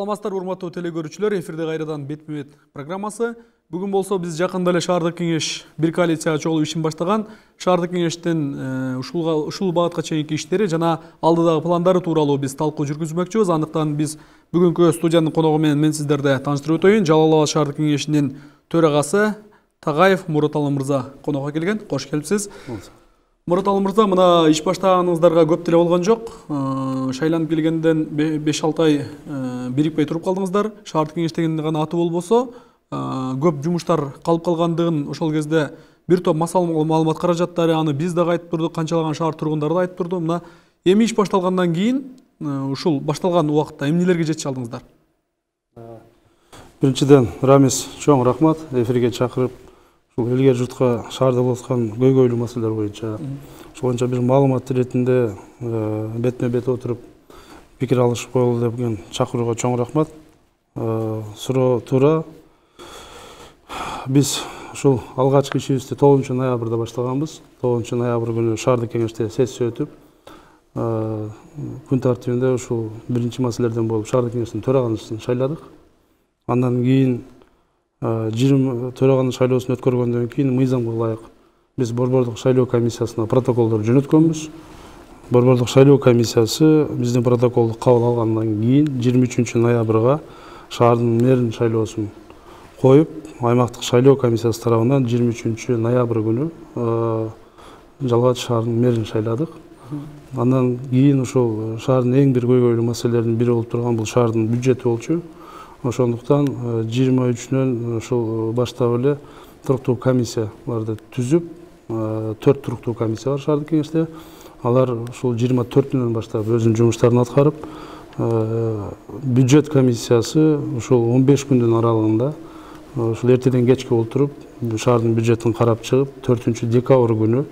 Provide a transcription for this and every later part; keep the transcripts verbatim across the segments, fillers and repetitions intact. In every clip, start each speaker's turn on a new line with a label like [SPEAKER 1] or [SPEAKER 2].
[SPEAKER 1] Саламатсыздар, урматтуу телекөрүүчүлөр, эфирде кайрадан бетме-бет программасы. Бүгүн болсо биз жакында эле шаардык кеңеш бир коалицияга чогулуп ишин баштаган. Шаардык кеңештин ушул ушул багытка чейинки иштери жана алдыдагы пландары тууралуу биз талкуу жүргүзмөкчүбүз. Андыктан биз бүгүнкү студиянын коногу менен мен сиздерди тааныштырып өтөйүн. Жалал Абад шаардык кеңешинин төрагасы Тагаев Мураталы мырза конокко келген. Кош келипсиз. Мураталы мырза, мына иш баштаганыңыздарга көп деле болгон жок. Шайланып келгенден беш алты ай бирикпей туруп калдыңыздар. Шаардык кеңештегенде гана аты болбосо, көп жумуштар калып калгандыгын ошол кезде бир топ маалымат каражаттары, аны биз дагы айтып турдук, канчалаган шаар тургундары да айтып турду. Мына эми иш башталгандан кийин ушул башталган убакытта эмнелерге жетише алдыңыздар?
[SPEAKER 2] Биринчиден, Рамис, чоң рахмат эфирге чакырып, ушул элге журтка шаарда болуп аткан көйгөйлүү маселелер боюнча, ошол боюнча бир маалымат иретинде бетме-бет отуруп пикир алышып коелу деген чакырууга чоң рахмат. Суроо туура. Биз ушул алгачкы ишибизди тогузунчу ноябрда баштаганбыз. тогузунчу ноябрь күнү шаардык кеңеште сессия өтүп, күн тартибинде ушул биринчи маселелерден болуп шаардык кеңештин төрагасын шайладык. Андан кийин жыйырма төраганын шайлоосун өткөргөндөн кийин мыйзамга ылайык биз борбордук шайлоо комиссиясына протоколдор жөнөткөнбүз. Борбордук шайлоо комиссиясы биздин протоколду кабыл алгандан кийин жыйырма үчүнчү ноябрга шаардын мэрин шайлоосун коюп, аймактык шайлоо комиссиясы тарабынан жыйырма үчүнчү ноябрь күнү Жалал Абад шаарынын мэрин шайладык. Андан кийин ушул шаардын эң бир көйгөйлүү маселелеринин бири болуп турган бул шаардын бюджети болчу. Ошондуктан жыйырма үчүнөн ушул баштап эле туруктуу комиссияларды түзүп, төрт туруктуу комиссия бар шаардык кеңеште. Алар ушул жыйырма төртүнөн баштап өзүнүн жумуштарын аткарып, бюджет комиссиясы ушул он беш күндүн аралыгында ушул эртеден кечке отуруп, шаардын бюджетин карап чыгып, төртүнчү декабрь күнү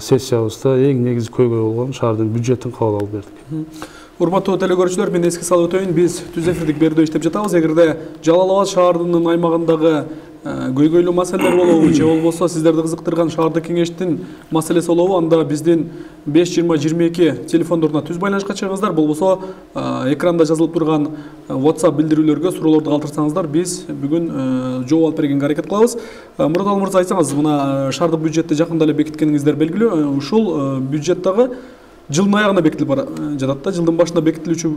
[SPEAKER 2] сессиябызда эң негизги көйгөй болгон шаардын бюджетин кабыл алып бердик.
[SPEAKER 1] Урматтуу телекөрүүчүлөр, мен эске салып өтөйүн, биз түз эфирдик берүүдө иштеп жатабыз. Эгерде Жалал Абад шаарынын аймагындагы көйгөйлүү маселелер болобу, же болбосо сиздерди кызыктырган шаардык кеңештин маселеси болобу, анда биздин беш жыйырма жыйырма эки телефондоруна түз байланышка чыгыңыздар. Болбосо экранда жазылып турган WhatsApp билдирүүлөргө суроолорду калтырсаңыздар, биз бүгүн жооп алып бергенге аракет кылабыз. Мураталы мырза, айтсаңыз, мына шаардык бюджетти жакында эле бекиткениңиздер белгилүү. Ушул бюджет дагы жылдын аягына бекитилип жатат да. Жылдын башында бекитилүүчү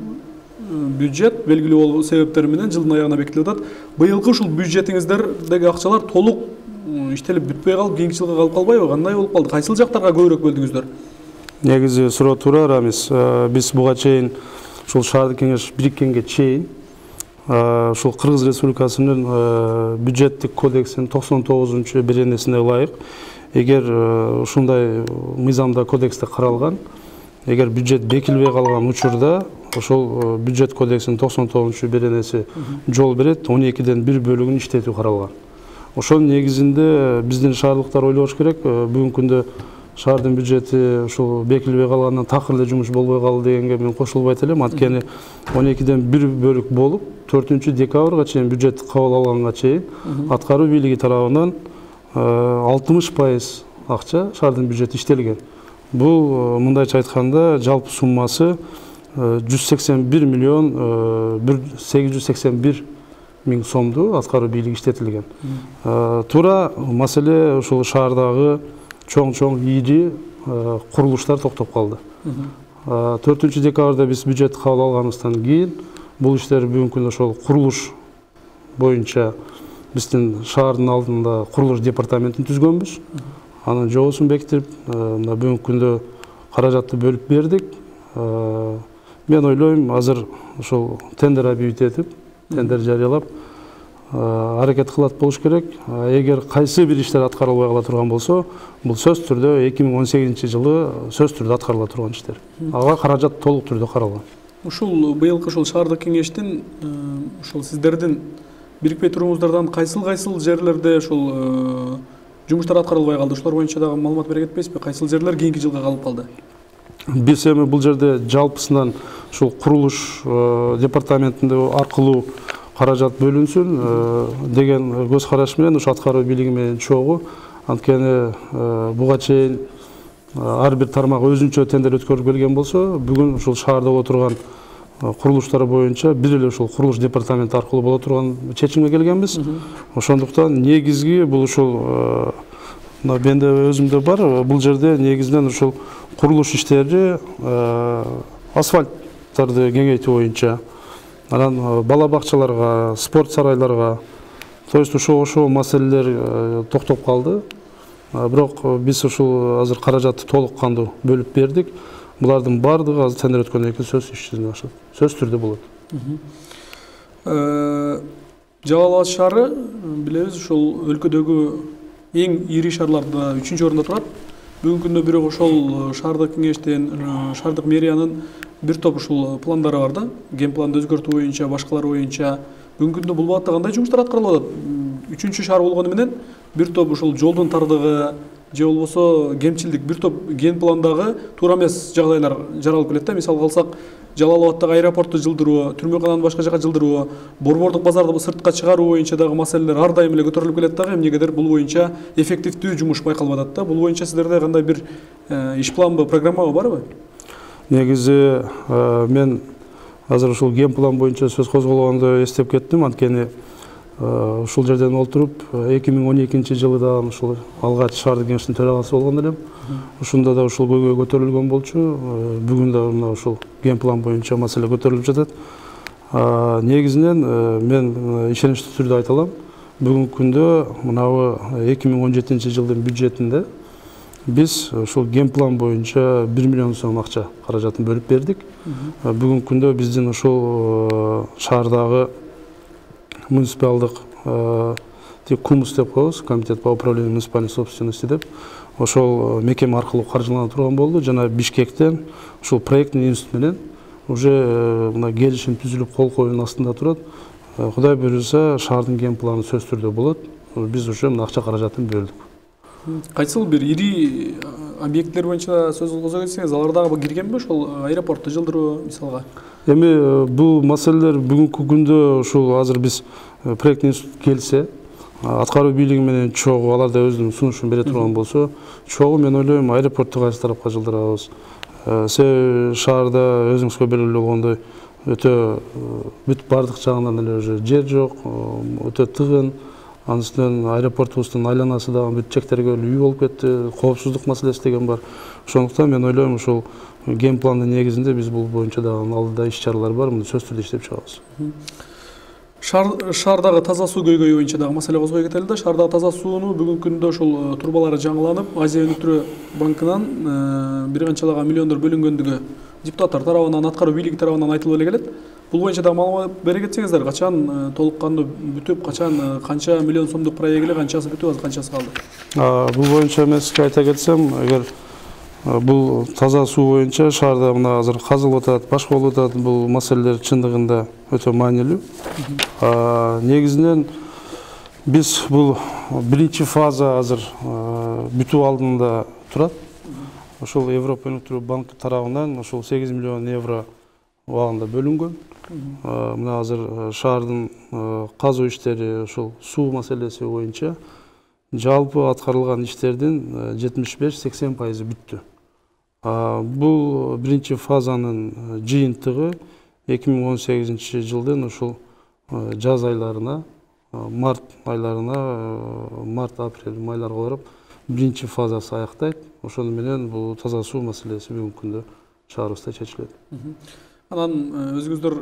[SPEAKER 1] бюджет белгилүү болгон себептер менен жылдын аягына бекитилип жатат. Быйылкы ушул бюджетиңиздердеги акчалар толук иштелип бүтпөй калып, кийинки жылга калып калбайбы? Кандай болуп калды? Кайсыл жактарга көбүрөөк бөлдүңүздөр?
[SPEAKER 2] Негизи суроо туура, Рамис. Биз буга чейин ушул шаардык кеңеш бириккенге чейин ушул Кыргыз Республикасынын бюджеттик кодексинин токсон тогузунчу беренесине ылайык, эгер ушундай мыйзамда кодексте каралган, эгер бюджет бекилбей калган учурда ошол бюджет кодексинин токсон тогузунчу беренеси жол берет, он экиден бир бөлүгүн иштетүү каралган. Ошонун негизинде биздин шаардыктар ойлош керек. Бүгүнкү күндө шаардын бюджети ушул бекилбей калгандан такыр эле жумуш болбой калды дегенге мен кошулбайт элем. Анткени он экиден бир бөлүк болуп, төртүнчү декабрга чейин бюджетти кабыл алганга чейин аткаруу бийлиги тарабынан алтымыш пайыз акча шаардын бюджети иштелген. Бул мындайча айтканда жалпы суммасы жүз сексен бир миллион сегиз жүз сексен бир миң сомду аткаруу бийлиги иштетилген. Туура маселе ушул шаардагы чоң-чоң ири курулуштар токтоп калды. төртүнчү декабрда биз бюджет кабыл алганыбыздан кийин бул иштер бүгүнкү күндө ошол курулуш боюнча биздин шаардын алдында курулуш департаментин түзгөнбүз. Анын жобосун бекитип, мына бүгүнкү күндө каражатты бөлүп бердик. Мен ойлойм, азыр ошол тендер объявить этип, тендер жарыялап аракет кылат болуш керек. Эгер кайсы бир иштер аткарылбай кала турган болсо, бул сөзсүз түрдө эки миң он сегизинчи жылы сөзсүз түрдө аткарыла турган иштер. Ага каражат толук түрдө каралган.
[SPEAKER 1] Ушул быйылкы ушул шаардык кеңештин ушул сиздердин бирикпей турууңуздардан кайсыл-кайсыл жерлерде ушул жумуштар аткарылбай калды? Ушулар боюнча дагы маалымат бере кетпейсизби? Кайсыл жерлер кийинки жылга калып калды?
[SPEAKER 2] Биз эми бул жерде жалпысынан ушул курулуш департаментинде аркылуу каражат бөлүнсүн деген көз караш менен ушу аткаруу бийлиги менен чогуу. Анткени буга чейин ар бир тармак өзүнчө тендер өткөрүп келген болсо, бүгүн ушул шаарда отурган курулуштар боюнча бир эле ушул курулуш департаменти аркылуу боло турган чечимге келгенбиз. Ошондуктан негизги бул ушул менде өзүмдө бар, бул жерде негизинен ушул курулуш иштери асфальттарды кеңейтүү боюнча, анан бала бакчаларга, спорт сарайларга, то есть ошол ошол маселелер токтоп калды. Бирок биз ушул азыр каражатты толук кандуу бөлүп бердик. Булардын баардыгы азыр тендер өткөндөн кийин сөз иш жүзүнө ашат. Сөз түрдө болот.
[SPEAKER 1] Жалал Абад шаары билебиз, ушул өлкөдөгү эң ири шаарларда үчүнчү орунда турат. Бүгүнкү күндө бирок ошол шаардык кеңештин, шаардык мэриянын бир топ ушул пландары бар да. Ген планды өзгөртүү боюнча, башкалар боюнча бүгүнкү күндө бул багытта кандай жумуштар аткарылып атат? Үчүнчү шаар болгону менен бир топ ушул жолдун тардыгы же болбосо кемчилдик, бир топ ген пландагы туура эмес жагдайлар жаралып келет да. Мисалга алсак, Жалал Абадтагы аэропортту жылдыруу, түрмөкананы башка жака жылдыруу, борбордук базарды сыртка чыгаруу боюнча дагы маселелер ар дайым эле көтөрүлүп келет дагы. Эмнегедир бул боюнча эффективдүү жумуш байкалып атат да. Бул боюнча сиздерде кандай бир иш планбы, программабы барбы?
[SPEAKER 2] Негизи мен азыр ушул ген план боюнча сөз козголгондо эстеп кеттим. Анткени ушул жерден олтуруп эки миң он экинчи жылы да ушул алгач шаардык кеңештин төрагасы болгон элем. Ушунда да ушул көйгөй көтөрүлгөн болчу. Бүгүн да мына ушул ген план боюнча маселе көтөрүлүп жатат. Негизинен мен ишеничтүү түрдө айта алам. Бүгүнкү күндө мынабы эки миң он жетинчи жылдын бюджетинде биз ушул ген план боюнча бир миллион сом акча каражатын бөлүп бердик. Бүгүнкү күндө биздин ушул шаардагы муниципалдык КУМС деп коебуз, комитет по управлению муниципальной собственности деп, ошол мекеме аркылуу каржылана турган болду. Жана Бишкектен ушул проекттин институт менен уже мына келишим түзүлүп кол коюунун астында турат. Кудай буюрса, шаардын ген планы сөз түрдө болот. Биз уже мына акча каражатын бөлдүк.
[SPEAKER 1] Кайсыл бир ири объекттер боюнча сөз козо кетсеңиз, алар дагы киргенби ошол аэропортту жылдыруу мисалга?
[SPEAKER 2] Эми бул маселелер бүгүнкү күндө ушул азыр биз проекттин институт келсе, аткаруу бийлиги менен чогуу алар да өзүнүн сунушун бере турган болсо, чогуу мен ойлойм аэропортту кайсы тарапка жылдырабыз. Себеби шаарда өзүңүзгө белгилүү болгондой өтө бүт бардык жагынан эле уже жер жок, өтө тыгын. Анын үстүнөн аэропортубуздун айланасы дагы бүт чектерге үй болуп кетти, коопсуздук маселеси деген бар. Ошондуктан мен ойлойм ушул ген пландын негизинде биз бул боюнча дагы алдыда иш чаралар бар, муну сөз түрдө иштеп чыгабыз.
[SPEAKER 1] Шаардагы таза суу көйгөйү боюнча дагы маселе козгой кетели да. Шаардагы таза сууну бүгүнкү күндө ушул турбалары жаңыланып, Азия өнүктүрүү банкынан бир канчалаган миллиондор бөлүнгөндүгү депутаттар тарабынан, аткаруу бийлиги тарабынан айтылып эле келет. Бул боюнча дагы маалымат бере кетсеңиздер, качан толук кандуу бүтүп, качан канча миллион сомдук проект эле, канчасы бүтүп, азыр канчасы калды?
[SPEAKER 2] Бул боюнча мен сизге айта кетсем, эгер бул таза суу боюнча шаарда мына азыр казылып атат, башка болуп атат, бул маселелер чындыгында өтө маанилүү. Негизинен биз бул биринчи фаза азыр бүтүү алдында турат. Ошол Европа өнүктүрүү банкы тарабынан ошол сегиз миллион евро убагында бөлүнгөн. Мына азыр шаардын казуу иштери, ошол суу маселеси боюнча жалпы аткарылган иштердин жетимиш беш сексен пайызы бүттү. Бул биринчи фазанын жыйынтыгы эки миң он сегизинчи жылдын ушул жаз айларына, март айларына, март, апрель, майларга барып биринчи фазасы аяктайт. Ошону менен бул таза суу маселеси бүгүнкү күндө шаарыбызда чечилет.
[SPEAKER 1] Анан өзүңүздөр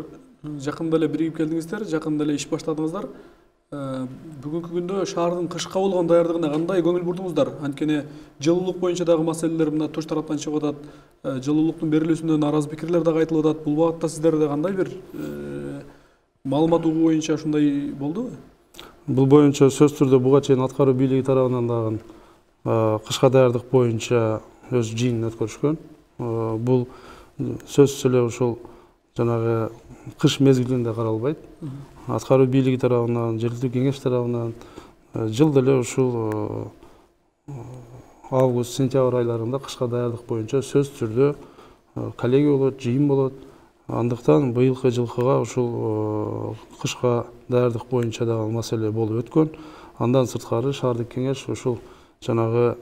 [SPEAKER 1] жакында эле биригип келдиңиздер, жакында эле иш баштадыңыздар. Бүгүнкү күндө шаардын кышка болгон даярдыгына кандай көңүл бурдуңуздар? Анткени жылуулук боюнча дагы маселелер мына Тош тараптан чыгып атат. Жылуулуктун берилүүсүнөн наразы пикирлер дагы айтылып атат. Бул багытта сиздерде кандай бир маалымат угуу боюнча ушундай болдубу?
[SPEAKER 2] Бул боюнча сөз түрдө буга чейин аткаруу бийлиги тарабынан дагы кышка даярдык боюнча өз жыйынын өткөрүшкөн. Бул сөзсүз эле ушул жанагы кыш мезгилинде каралбайт. Аткаруу бийлиги тарабынан, жергиликтүү кеңеш тарабынан жылда эле ушул август, сентябрь айларында кышка даярдык боюнча сөз түрдө коллегия болот, жыйын болот. Андыктан быйылкы жылкыга ушул кышка даярдык боюнча дагы маселе болуп өткөн. Андан сырткары шаардык кеңеш ушул жанагы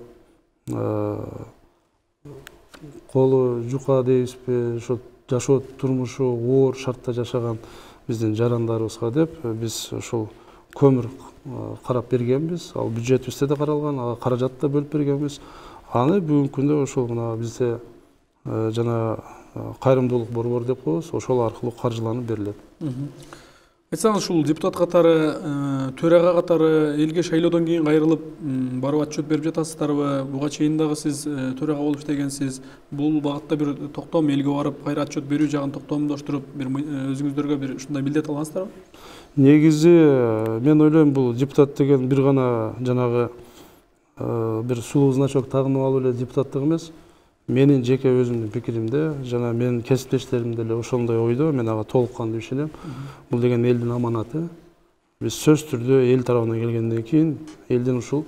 [SPEAKER 2] колу жука дейбизби, ошо жашоо турмушу оор шартта жашаган биздин жарандарыбызга деп биз ушул көмүр карап бергенбиз. Ал бюджетибизде да каралган, ага каражат да бөлүп бергенбиз. Аны бүгүнкү күндө ошол мына бизде жана кайрымдуулук борбору деп коебуз, ошол аркылуу каржыланып берилет.
[SPEAKER 1] Айтсаңыз, ушул депутат катары, төрага катары элге шайлоодон кийин кайрылып барып отчет берип жатасыздарбы? Буга чейин дагы сиз төрага болуп иштегенсиз. Бул багытта бир токтом, элге барып кайра отчет берүү жагын токтомдоштуруп, бир өзүңүздөргө бир ушундай милдет алгансыздарбы?
[SPEAKER 2] Негизи мен ойлойм, бул депутат деген бир гана жанагы бир сулуу значок тагынып алып эле депутаттык эмес. Менин жеке өзүмдүн пикиримде, жана менин кесиптештерим деле ошондой ойдо, мен ага толук кандуу ишенем. Бул деген элдин аманаты. Биз сөз түрдө эл тарабынан келгенден кийин элдин ушул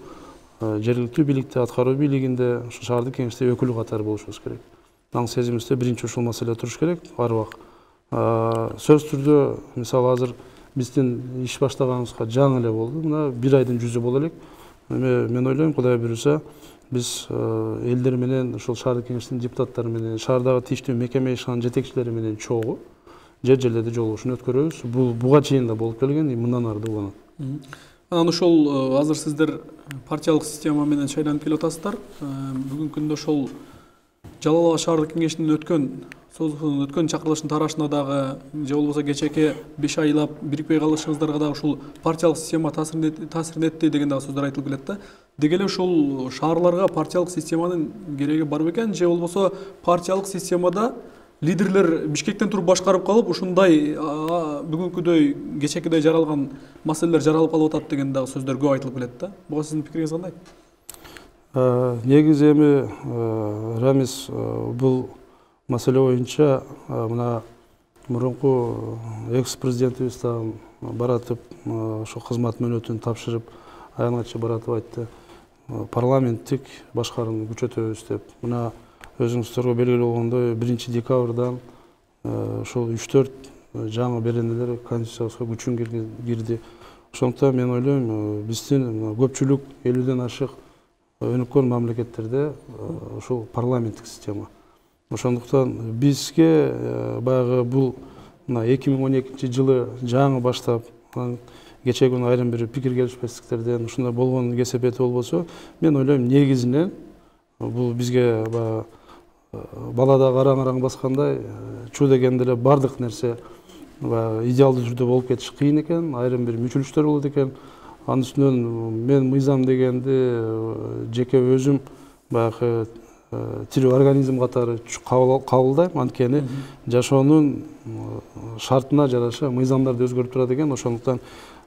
[SPEAKER 2] жергиликтүү бийликте, аткаруу бийлигинде, ушул шаардык кеңеште өкүлү катары болушубуз керек. Аң сезимибизде биринчи ушул маселе туруш керек, арбак. Сөз түрдө, мисалы азыр биздин иш баштаганыбызга жаңы эле болду. Мына бир айдын жүзү боло элек. Мен ойлойм, Кудай буйруса, биз элдер менен, ушул шаардык кеңештин депутаттары менен, шаардагы тийиштүү мекеме ишанын жетекчилери менен чогуу жер жерлерде жолугушууну өткөрөбүз. Бул буга чейин да болуп келген, мындан ары да уланат.
[SPEAKER 1] Анан ошол азыр сиздер партиялык система менен шайланып келип атасыздар. Бүгүнкү күндө ошол Жалал Ага шаардык кеңешинин өткөн созуктун өткөн чакырылыштын тарашына дагы, же болбосо кечээки беш айлап бирикпей калышыңыздарга дагы ушул партиялык система таасирин этти деген дагы сөздөр айтылып келет да. Деги эле ушул шаарларга партиялык системанын кереги бар бекен, же болбосо партиялык системада лидерлер Бишкектен туруп башкарып калып, ушундай бүгүнкүдөй кечээкидей жаралган маселелер жаралып калып атат деген дагы сөздөр көп айтылып келет да. Буга сиздин пикириңиз кандай?
[SPEAKER 2] Негизи эми Рамис, бул маселе боюнча мына мурунку экс-президентибиз дагы баратып, ошо кызмат мөөнөтүн тапшырып, аянтча баратып айтты, парламенттик башкарууну күчөтөбүз деп. Мына өзүңүздөргө белгилүү болгондой, биринчи декабрдан ошол үч төрт жаңы беренелер конституциябызга күчүн кирди. Ошондуктан мен ойлойм, биздин көпчүлүк элүүдөн ашык өнүккөн мамлекеттерде ушул парламенттик система. Ошондуктан бизге баягы бул мына эки миң он экинчи жылы жаңы баштап, кечээ күнү айрым бир пикир келишпестиктерден ушундай болгон кесепети болбосо, мен ойлойм, негизинен бул бизге балада караң-араң баскандай чуу дегенде эле бардык нерсе идеалдуу түрдө болуп кетиши кыйын экен, айрым бир мүчүлүштөр болот экен. Анын үстүнөн мен мыйзам дегенди жеке өзүм баягы тирүү организм катары кабылдайм, анткени жашоонун шартына жараша мыйзамдарды өзгөрүп турат экен. Ошондуктан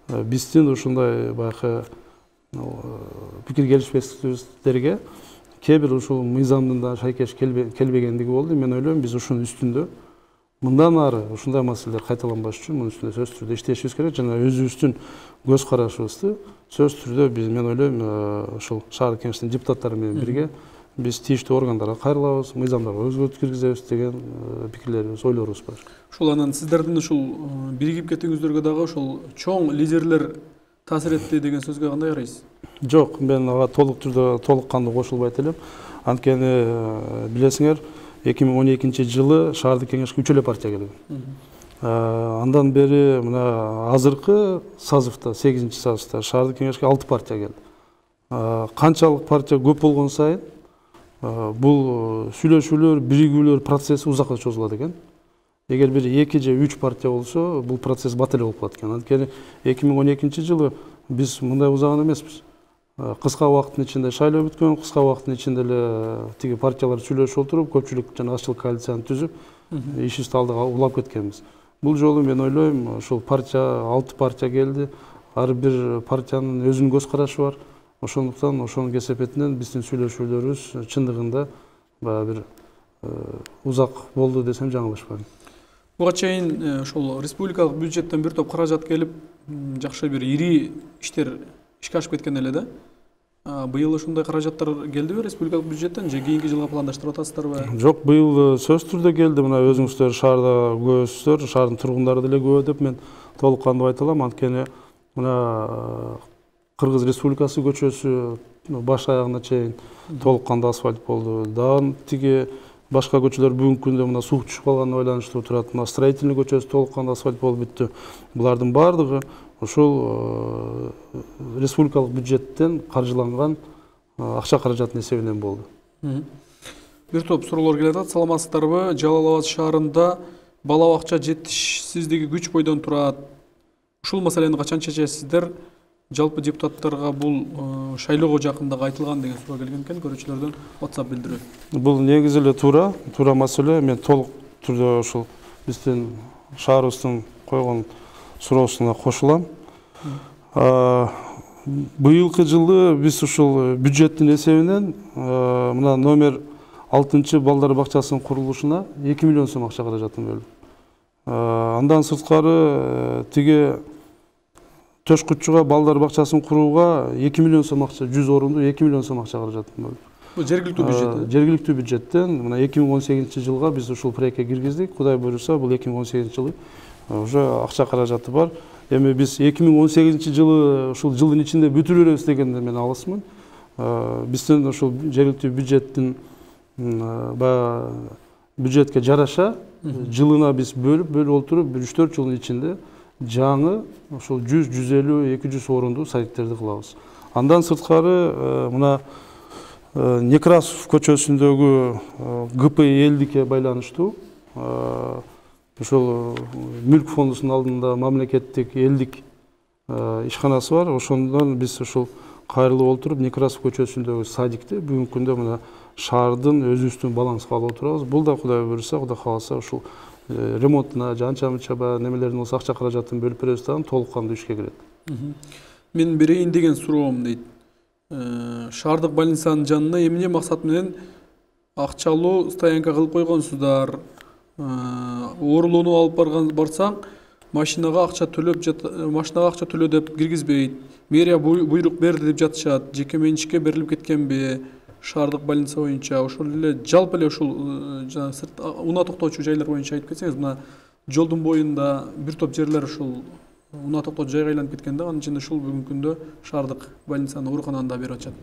[SPEAKER 2] биздин ушундай баягы пикир келишпестиктерге кээ бир ушул мыйзамдын да шайкеш келбегендиги болду. Мен ойлойм, биз ушунун үстүндө мындан ары ушундай маселелер кайталанбаш үчүн мунун үстүндө сөз түрдө иштешибиз керек жана өзүбүздүн көз карашыбызды сөз түрдө биз, мен ойлойм, ушул шаардык кеңештин депутаттары менен бирге биз тийиштүү органдарга кайрылабыз, мыйзамдарга өзгөртүү киргизебиз деген пикирлерибиз, ойлорубуз бар.
[SPEAKER 1] Ушул анан сиздердин ушул биригип кетүүңүздөргө дагы ушул чоң лидерлер таасир этти деген сөзгө кандай карайсыз? Жок,
[SPEAKER 2] мен ага толук түрдө толук кандуу кошулбайт элем. Анткени билесиңер, эки миң он экинчи жылы шаардык кеңешке үч эле партия келген. Андан бери мына азыркы сазывда, сегизинчи сазывда шаардык кеңешке алты партия келди. Канчалык партия көп болгон сайын бул сүйлөшүүлөр, биригүүлөр процесси узакка чозулат экен. Эгер бир эки же үч партия болсо, бул процесс бат эле болуп калат экен. Анткени эки миң он экинчи жылы биз мындай узаган эмеспиз. Кыска убакыттын ичинде шайлоо бүткөн, кыска убакыттын ичинде эле тиги партиялар сүйлөшүп отуруп, көпчүлүк жана азчылык коалицияны түзүп, ишибизди алдыга улап кеткенбиз. Бул жолу мен ойлойм, ушул партия, алты партия келди. Ар бир партиянын өзүнүн көз карашы бар. Ошондуктан ошонун кесепетинен биздин сүйлөшүүлөрүбүз чындыгында баягы бир узак болду десем жаңылышпайм.
[SPEAKER 1] Буга чейин ошол республикалык бюджеттен бир топ каражат келип, жакшы бир ири иштер ишке ашып кеткен эле да. Быйыл ушундай каражаттар келдиби республикалык бюджеттен же кийинки жылга пландаштырып атасыздарбы?
[SPEAKER 2] Жок, быйыл сөз түрдө келди. Мына өзүңүздөр шаарда көбүсүздөр, шаардын тургундары деле көп деп мен толук кандуу айта алам. Анткени мына Кыргыз Республикасы көчөсү баш аягына чейин толук кандуу асфальт болду. Дагы тиги башка көчөлөр бүгүнкү күндө мына суу түшүп калганына байланыштуу турат. Мына Строительный көчөсү толук кандуу асфальт болуп бүттү. Булардын баардыгы ошол республикалык бюджеттен каржыланган акча каражаттын эсебинен болду.
[SPEAKER 1] Бир топ суроолор келип атат. Саламатсыздарбы? Жалал Абад шаарында бала бакча жетишсиздиги күч бойдон турат. Ушул маселени качан чечесиздер? Жалпы депутаттарга бул шайлоого жакындагы айтылган деген суроо келген экен көрүүчүлөрдөн WhatsApp билдирүү.
[SPEAKER 2] Бул негизи эле туура, туура маселе. Мен толук түрдө ушул биздин шаарыбыздын койгон суроосуна кошулам. Быйылкы жылы биз ушул бюджеттин эсебинен мына номер алтынчы балдар бакчасынын курулушуна эки миллион сом акча каражатын бөлдүк. Андан сырткары тиги Төшкүччүгө балдар бакчасын курууга эки миллион сом акча, жүз орунду эки миллион сом акча каражатын бөлдүк.
[SPEAKER 1] Бул жергиликтүү бюджет.
[SPEAKER 2] Жергиликтүү бюджеттен мына эки миң он сегизинчи жылга биз ушул проектке киргиздик. Кудай буйруса, бул эки миң он сегизинчи жылы уже акча каражаты бар. Эми биз эки миң он сегизинчи жылы ушул жылдын ичинде бүтүрүп беребиз дегенде мен алысмын. Биздин ушул жергиликтүү бюджеттин баягы бюджетке жараша жылына биз бөлүп бөлүп олтуруп бир үч төрт жылдын ичинде жаңы ошол жүз жүз элүү эки жүз орунду садиктерди кылабыз. Андан сырткары мына Некрасов көчөсүндөгү ГП элдикке байланыштуу ошол мүлк фондунун алдында мамлекеттик элдик ишканасы бар. Ошондон биз ушул кайрылып олтуруп Некрасов көчөсүндөгү садикти бүгүнкү күндө мына шаардын өзүбүздүн балансыбызга алып отурабыз. Бул да Кудай буйруса, Кудай кааласа ушул ремонтуна жанча мынча баягы немелердин болсо акча каражатын бөлүп беребиз дагы толук кандуу ишке кирет.
[SPEAKER 1] Мен берейин деген суроом дейт. Шаардык больницанын жанына эмне максат менен акчалуу стоянка кылып койгонсуздар? Оорулууну алып барган барсаң, машинага акча төлөп жат, машинага акча төлө деп киргизбейт. Мэрия буйрук берди деп жатышат. Жеке менчикке берилип кеткенби? Шаардык больница боюнча ошол эле жалпы эле ушул жана сырт унаа токтоочу жайлар боюнча айтып кетсеңиз, мына жолдун боюнда бир топ жерлер ушул унаа токтоочу жайга айланып кеткен да, анын ичинде ушул бүгүнкү күндө шаардык больницанын оорукананы да берип атышат.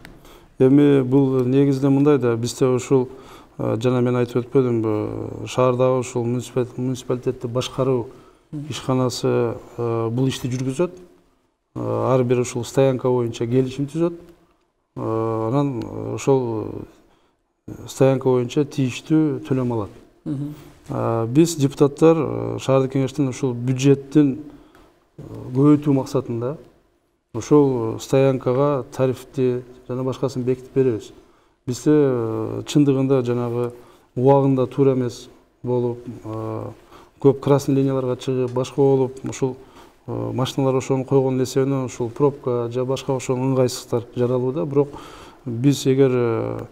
[SPEAKER 2] Эми бул негизинен мындай да, бизде ушул жана мен айтып өтпөдүмбү, шаардагы ушул муниципалитетти башкаруу ишканасы бул ишти жүргүзөт. Ар бир ушул стоянка боюнча келишим түзөт. Анан ошол стоянка боюнча тийиштүү төлөм алат. Биз депутаттар шаардык кеңештин ушул бюджеттин көбөйтүү максатында ошол стоянкага тарифти жана башкасын бекитип беребиз. Бизде чындыгында жанагы убагында туура эмес болуп, көп красный линияларга чыгып, башка болуп, ушул машиналар ошону койгон эсебинен ушул пробка же башка ошол ыңгайсыздыктар жаралууда. Бирок биз эгер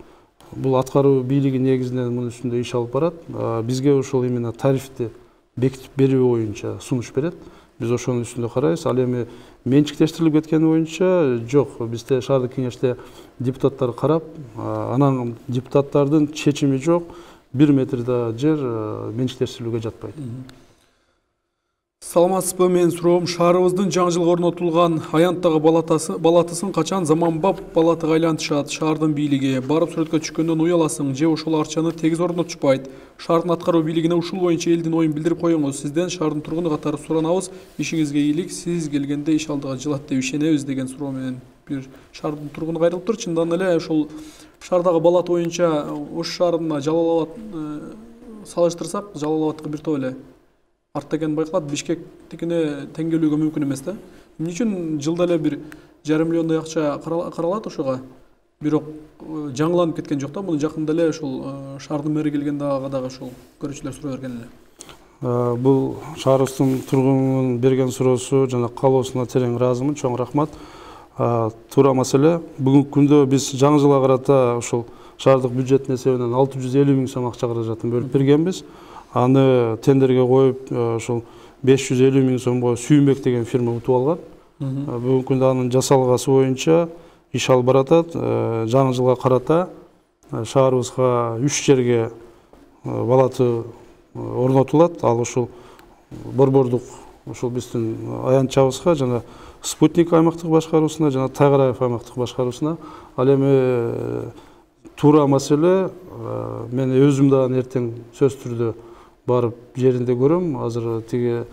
[SPEAKER 2] бул аткаруу бийлиги негизинен мунун үстүндө иш алып барат, бизге ошол именно тарифти бекитип берүү боюнча сунуш берет. Биз ошонун үстүндө карайбыз. Ал эми менчиктештирилип кеткени боюнча жок. Бизде шаардык кеңеште депутаттар карап, анан депутаттардын чечими жок. Бир метр да жер менчиктештирилүүгө жатпайт.
[SPEAKER 1] Саламатсызбы? Мен суроом, шаарыбыздын жаңы жылга орнотулган аянттагы балатысын качан заманбап балатыга айлантышат? Шаардын бийлиги барып сүрөткө түшкөндөн уяласың же ошол арчаны тегиз орнотушпайт? Шаардын аткаруу бийлигине ушул боюнча элдин оюн билдирип коюңуз. Сизден шаардын тургуну катары суранабыз. Ишиңизге ийгилик, сиз келгенде иш алдыга жылат деп ишенебиз деген суроо менен бир шаардын тургуну кайрылыптыр. Чындан эле ушул шаардагы балат боюнча Ош шаарына Жалал Абад салыштырсак, Жалал Абадтыкы бир топ эле артта экени байкалат. Бишкектикине теңгелүүгө мүмкүн эмес да. Эмне үчүн жылда эле бир жарым миллиондой акча каралат ошого? Бирок жаңыланып кеткен жок да. Муну жакында эле ушул шаардын мэри келгенде ага дагы ушул көрүүчүлөр суроо берген эле.
[SPEAKER 2] Бул шаарыбыздын тургунунун берген суроосу жана каалоосуна терең ыраазымын. Чоң рахмат. Туура маселе. Бүгүнкү күндө биз жаңы жылга карата ушул шаардык бюджеттин эсебинен алты жүз элүү миң сом акча каражатын бөлүп бергенбиз. Аны тендерге коюп, ошол беш жүз элүү миң сомго Сүйүнбек деген фирма утуп алган. Бүгүнкү күндө анын жасалгасы боюнча иш алып баратат. Жаңы жылга карата шаарыбызга үч жерге балаты орнотулат. Ал ушул Борбордук ушул биздин аянтчабызга жана Спутник аймактык башкаруусуна жана Тайгараев аймактык башкаруусуна. Ал эми туура маселе. Мен өзүм дагы эртең сөз түрдө барып жеринде көрөм. Азыр тиги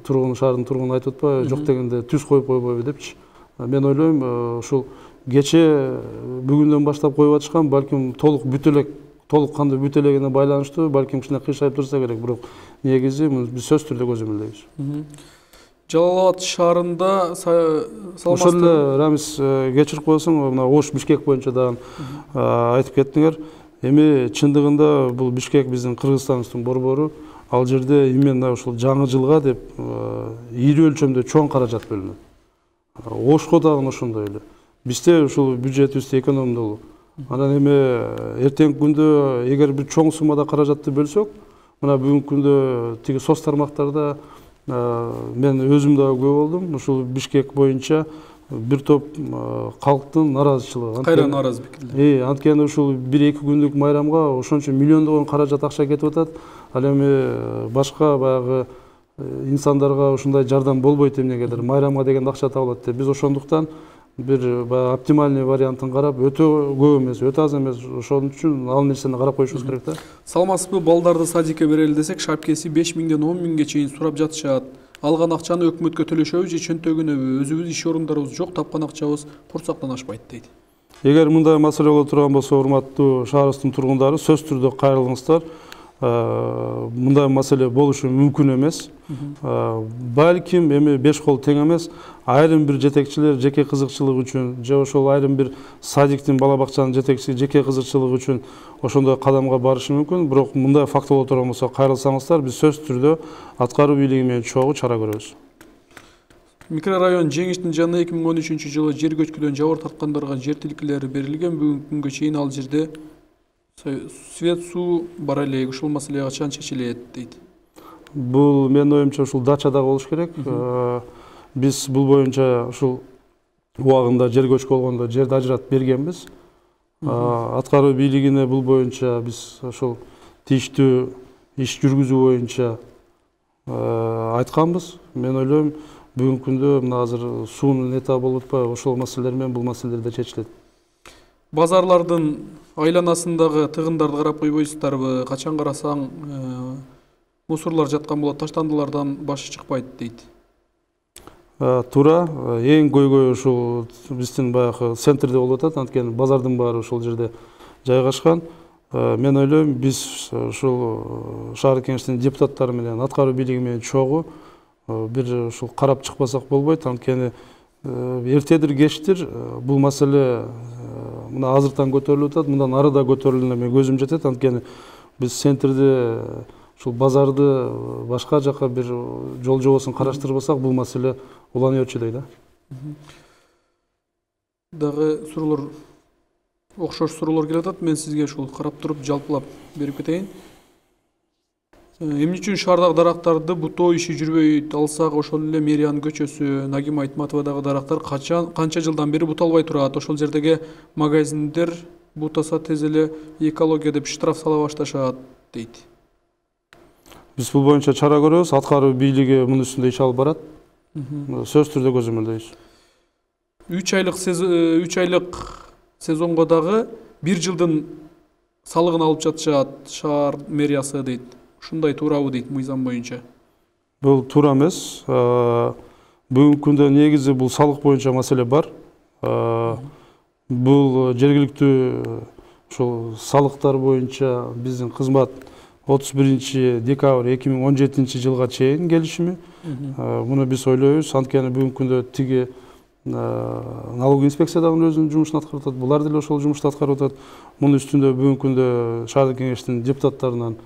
[SPEAKER 2] тургун шаардын тургуну айтып атпайбы, жок дегенде түз коюп койбойбу депчи. Мен ойлойм, ушул кече бүгүндөн баштап коюп атышкан, балким толук бүтө элек, толук кандуу бүтө элегине байланыштуу, балким кичине кыйшайып турса керек, бирок негизи биз сөз түрдө көзөмөлдөйбүз.
[SPEAKER 1] Жалал Абад шаарында саламатсызбы?
[SPEAKER 2] Ошол эле Рамис кечирип коесуң, мына Ош Бишкек боюнча дагы айтып кеттиңер. Эми чындыгында бул Бишкек биздин Кыргызстаныбыздын борбору. Ал жерде именно ушул жаңы жылга деп ийри өлчөмдө чоң каражат бөлүнөт. Ошко дагы ошондой эле. Бизде ушул бюджетибизди экономдолуу. Анан эми эртеңки күндө эгер бир чоң суммада каражатты бөлсөк, мына бүгүнкү күндө тиги соц тармактарда мен өзүм дагы күбө болдум. Ушул Бишкек боюнча бир топ калктын наразычылыгы.
[SPEAKER 1] Кайра нааразы пикирлер.
[SPEAKER 2] Э, анткени ушул бир-эки күндүк майрамга ошончо миллиондогон каражат акча кетип атат. Ал эми башка баягы инсандарга ушундай жардам болбойт эмнегедир. Майрамга деген акча табылат деп. Биз ошондуктан бир баягы оптимальный вариантын карап, өтө көп эмес, өтө аз эмес, ошон үчүн ал нерсени карап коюшубуз керек да.
[SPEAKER 1] Саламатсызбы, балдарды садикке берели десек, шапкеси беш миңден он миңге чейин сурап жатышат. Алган акчаны өкмөткө төлөшөбү же чөнтөгүнөбү? Өзүбүз иш орундарыбыз жок, тапкан акчабыз курсактан ашпайт дейт.
[SPEAKER 2] Эгер мындай маселе боло турган болсо, урматтуу шаарыбыздын тургундары, сөз түрдө кайрылыңыздар. Мындай маселе болушу мүмкүн эмес. Балким эми беш кол тең эмес. Айрым бир жетекчилер жеке кызыкчылык үчүн же ошол айрым бир садиктин, бала бакчанын жетекчиси жеке кызыкчылык үчүн ошондой кадамга барышы мүмкүн. Бирок мындай факт боло турган болсо, кайрылсаңыздар, биз сөз түрдө аткаруу бийлиги менен чогуу чара көрөбүз.
[SPEAKER 1] Микрорайон Жеңиштин жанына эки миң он үчүнчү жылы жер көчкүдөн жабыр тарткандарга жер тилкелери берилген. Бүгүнкү күнгө чейин ал жерде свет, суу бар эле. Ушул маселе качан чечилет дейт.
[SPEAKER 2] Бул менин оюмча ушул дачада болуш керек. Биз бул боюнча ушул убагында жер көчкү болгондо жерди ажыратып бергенбиз. Аткаруу бийлигине бул боюнча биз ошол тийиштүү иш жүргүзүү боюнча айтканбыз. Мен ойлойм, бүгүнкү күндө мына азыр суунун этабы болуп атпайбы, ошол маселелер менен бул маселелер да чечилет.
[SPEAKER 1] Базарлардын айланасындагы тыгындарды карап койбойсуздарбы? Качан карасаң мусорлар жаткан болот, таштандылардан башы чыкпайт дейт.
[SPEAKER 2] Туура, эң көйгөй ушул биздин баягы центрде болуп атат, анткени базардын баары ошол жерде жайгашкан. Мен ойлойм, биз ушул шаардык кеңештин депутаттары менен, аткаруу бийлиги менен чогуу бир ушул карап чыкпасак болбойт, анткени эртедир кечтир бул маселе мына азыртан көтөрүлүп атат, мындан ары да көтөрүлүнө мен көзүм жетет, анткени биз центрде ушул базарды башка жака бир жол жобосун караштырбасак, бул маселе уланы өчүдөй да.
[SPEAKER 1] Дагы суроолор, окшош суроолор келип атат. Мен сизге ушул карап туруп жалпылап берип кетейин. Эмне үчүн шаардагы дарактарды бутоо иши жүрбөйт? Алсак ошол эле мэриянын көчөсү, Нагима Айтматовадагы дарактар качан канча жылдан бери буталбай турат? Ошол жердеги магазиндер бутаса тез эле экология деп штраф сала башташат дейт.
[SPEAKER 2] Биз бул боюнча чара көрөбүз, аткаруу бийлиги мунун үстүндө иш алып барат. Сөз түрдө көзөмөлдөйбүз.
[SPEAKER 1] үч айлык үч айлык сезонго дагы бир жылдын салыгын алып жатышат шаар мэриясы дейт. Ушундай туурабы дейт мыйзам боюнча?
[SPEAKER 2] Бул туура эмес. Бүгүнкү күндө негизи бул салык боюнча маселе бар. Бул жергиликтүү ушул салыктар боюнча биздин кызмат отуз биринчи декабрь эки миң он жетинчи жылга чейин келишими. Муну биз ойлойбуз, анткени бүгүнкү күндө тиги налоговый инспекция дагы өзүнүн жумушун аткарып атат, булар деле ошол жумушту аткарып атат. Мунун үстүндө бүгүнкү күндө шаардык кеңештин депутаттарынан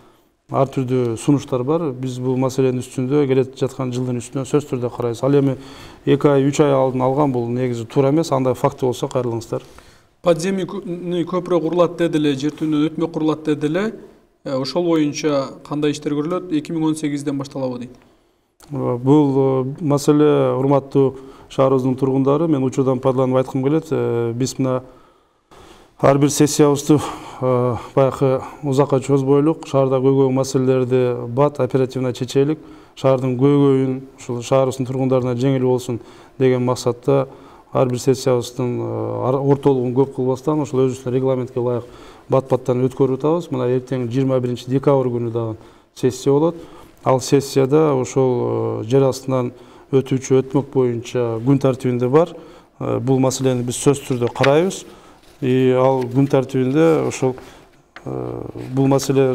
[SPEAKER 2] ар түрдүү сунуштар бар. Биз бул маселенин үстүндө келет жаткан жылдын үстүнө сөз түрдө карайбыз. Ал эми эки ай, үч ай алдын алган бул негизи туура эмес. Андай факты болсо кайрылыңыздар.
[SPEAKER 1] Подземный көпүрө курулат деди эле, жер түбүнөн өтмө курулат деди эле. Ошол боюнча кандай иштер көрүлөт? эки миң он сегизден башталабы дейт.
[SPEAKER 2] Бул маселе, урматтуу шаарыбыздын тургундары, мен учурдан пайдаланып айткым келет. Биз мына ар бир сессиябызды баягы узакка чозбойлук, шаардагы көйгөй маселелерди бат оперативно чечелик, шаардын көйгөйүн ушул шаарыбыздын тургундарына жеңил болсун деген максатта ар бир сессиябыздын ортолугун көп кылбастан ошол өзүбүздүн регламентке ылайык бат баттан өткөрүп атабыз. Мына эртең жыйырма биринчи декабрь күнү дагы сессия болот. Ал сессияда ошол жер астынан өтүүчү өтмөк боюнча күн тартибинде бар. Бул маселени биз сөзсүз түрдө карайбыз. И ал күн тартибинде ошол бул маселе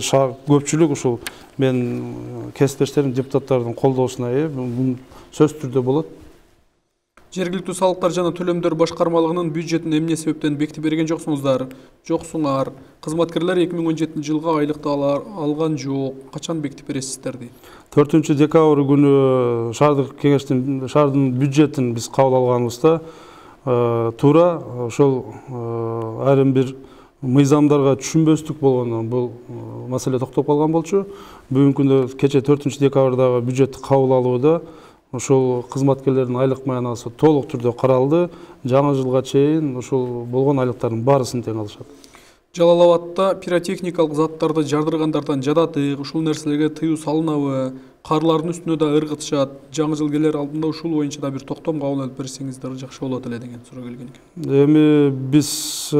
[SPEAKER 2] көпчүлүк ушул мен кесиптештерим депутаттардын колдоосуна ээ, бул сөзсүз түрдө болот.
[SPEAKER 1] Жергиликтүү салыктар жана төлөмдөр башкармалыгынын бюджетин эмне себептен бекитип берген жоксуңуздар? Жоксуңар. Кызматкерлер эки миң он жетинчи жылга айлыкты алган жок. Качан бекитип бересиздер дейт.
[SPEAKER 2] төртүнчү декабрь күнү шаардык кеңештин шаардын бюджетин биз кабыл алганыбызда туура ошол айрым бир мыйзамдарга түшүнбөстүк болгондон бул маселе токтоп калган болчу. Бүгүнкү күндө кече төртүнчү декабрдагы бюджетти кабыл алууда ошол кызматкерлердин айлык маянасы толук түрдө каралды. Жаңы жылга чейин ошол болгон айлыктардын баарысын тең алышат.
[SPEAKER 1] Жалал Абадта пиротехникалык заттарды жардыргандардан жадатык, ушул нерселерге тыюу салынабы? Карлардын үстүнө да ыргытышат. Жаңы жыл келер алдында ушул боюнча да бир токтом кабыл алып берсеңиздер жакшы болот эле деген суроо келген экен.
[SPEAKER 2] Эми биз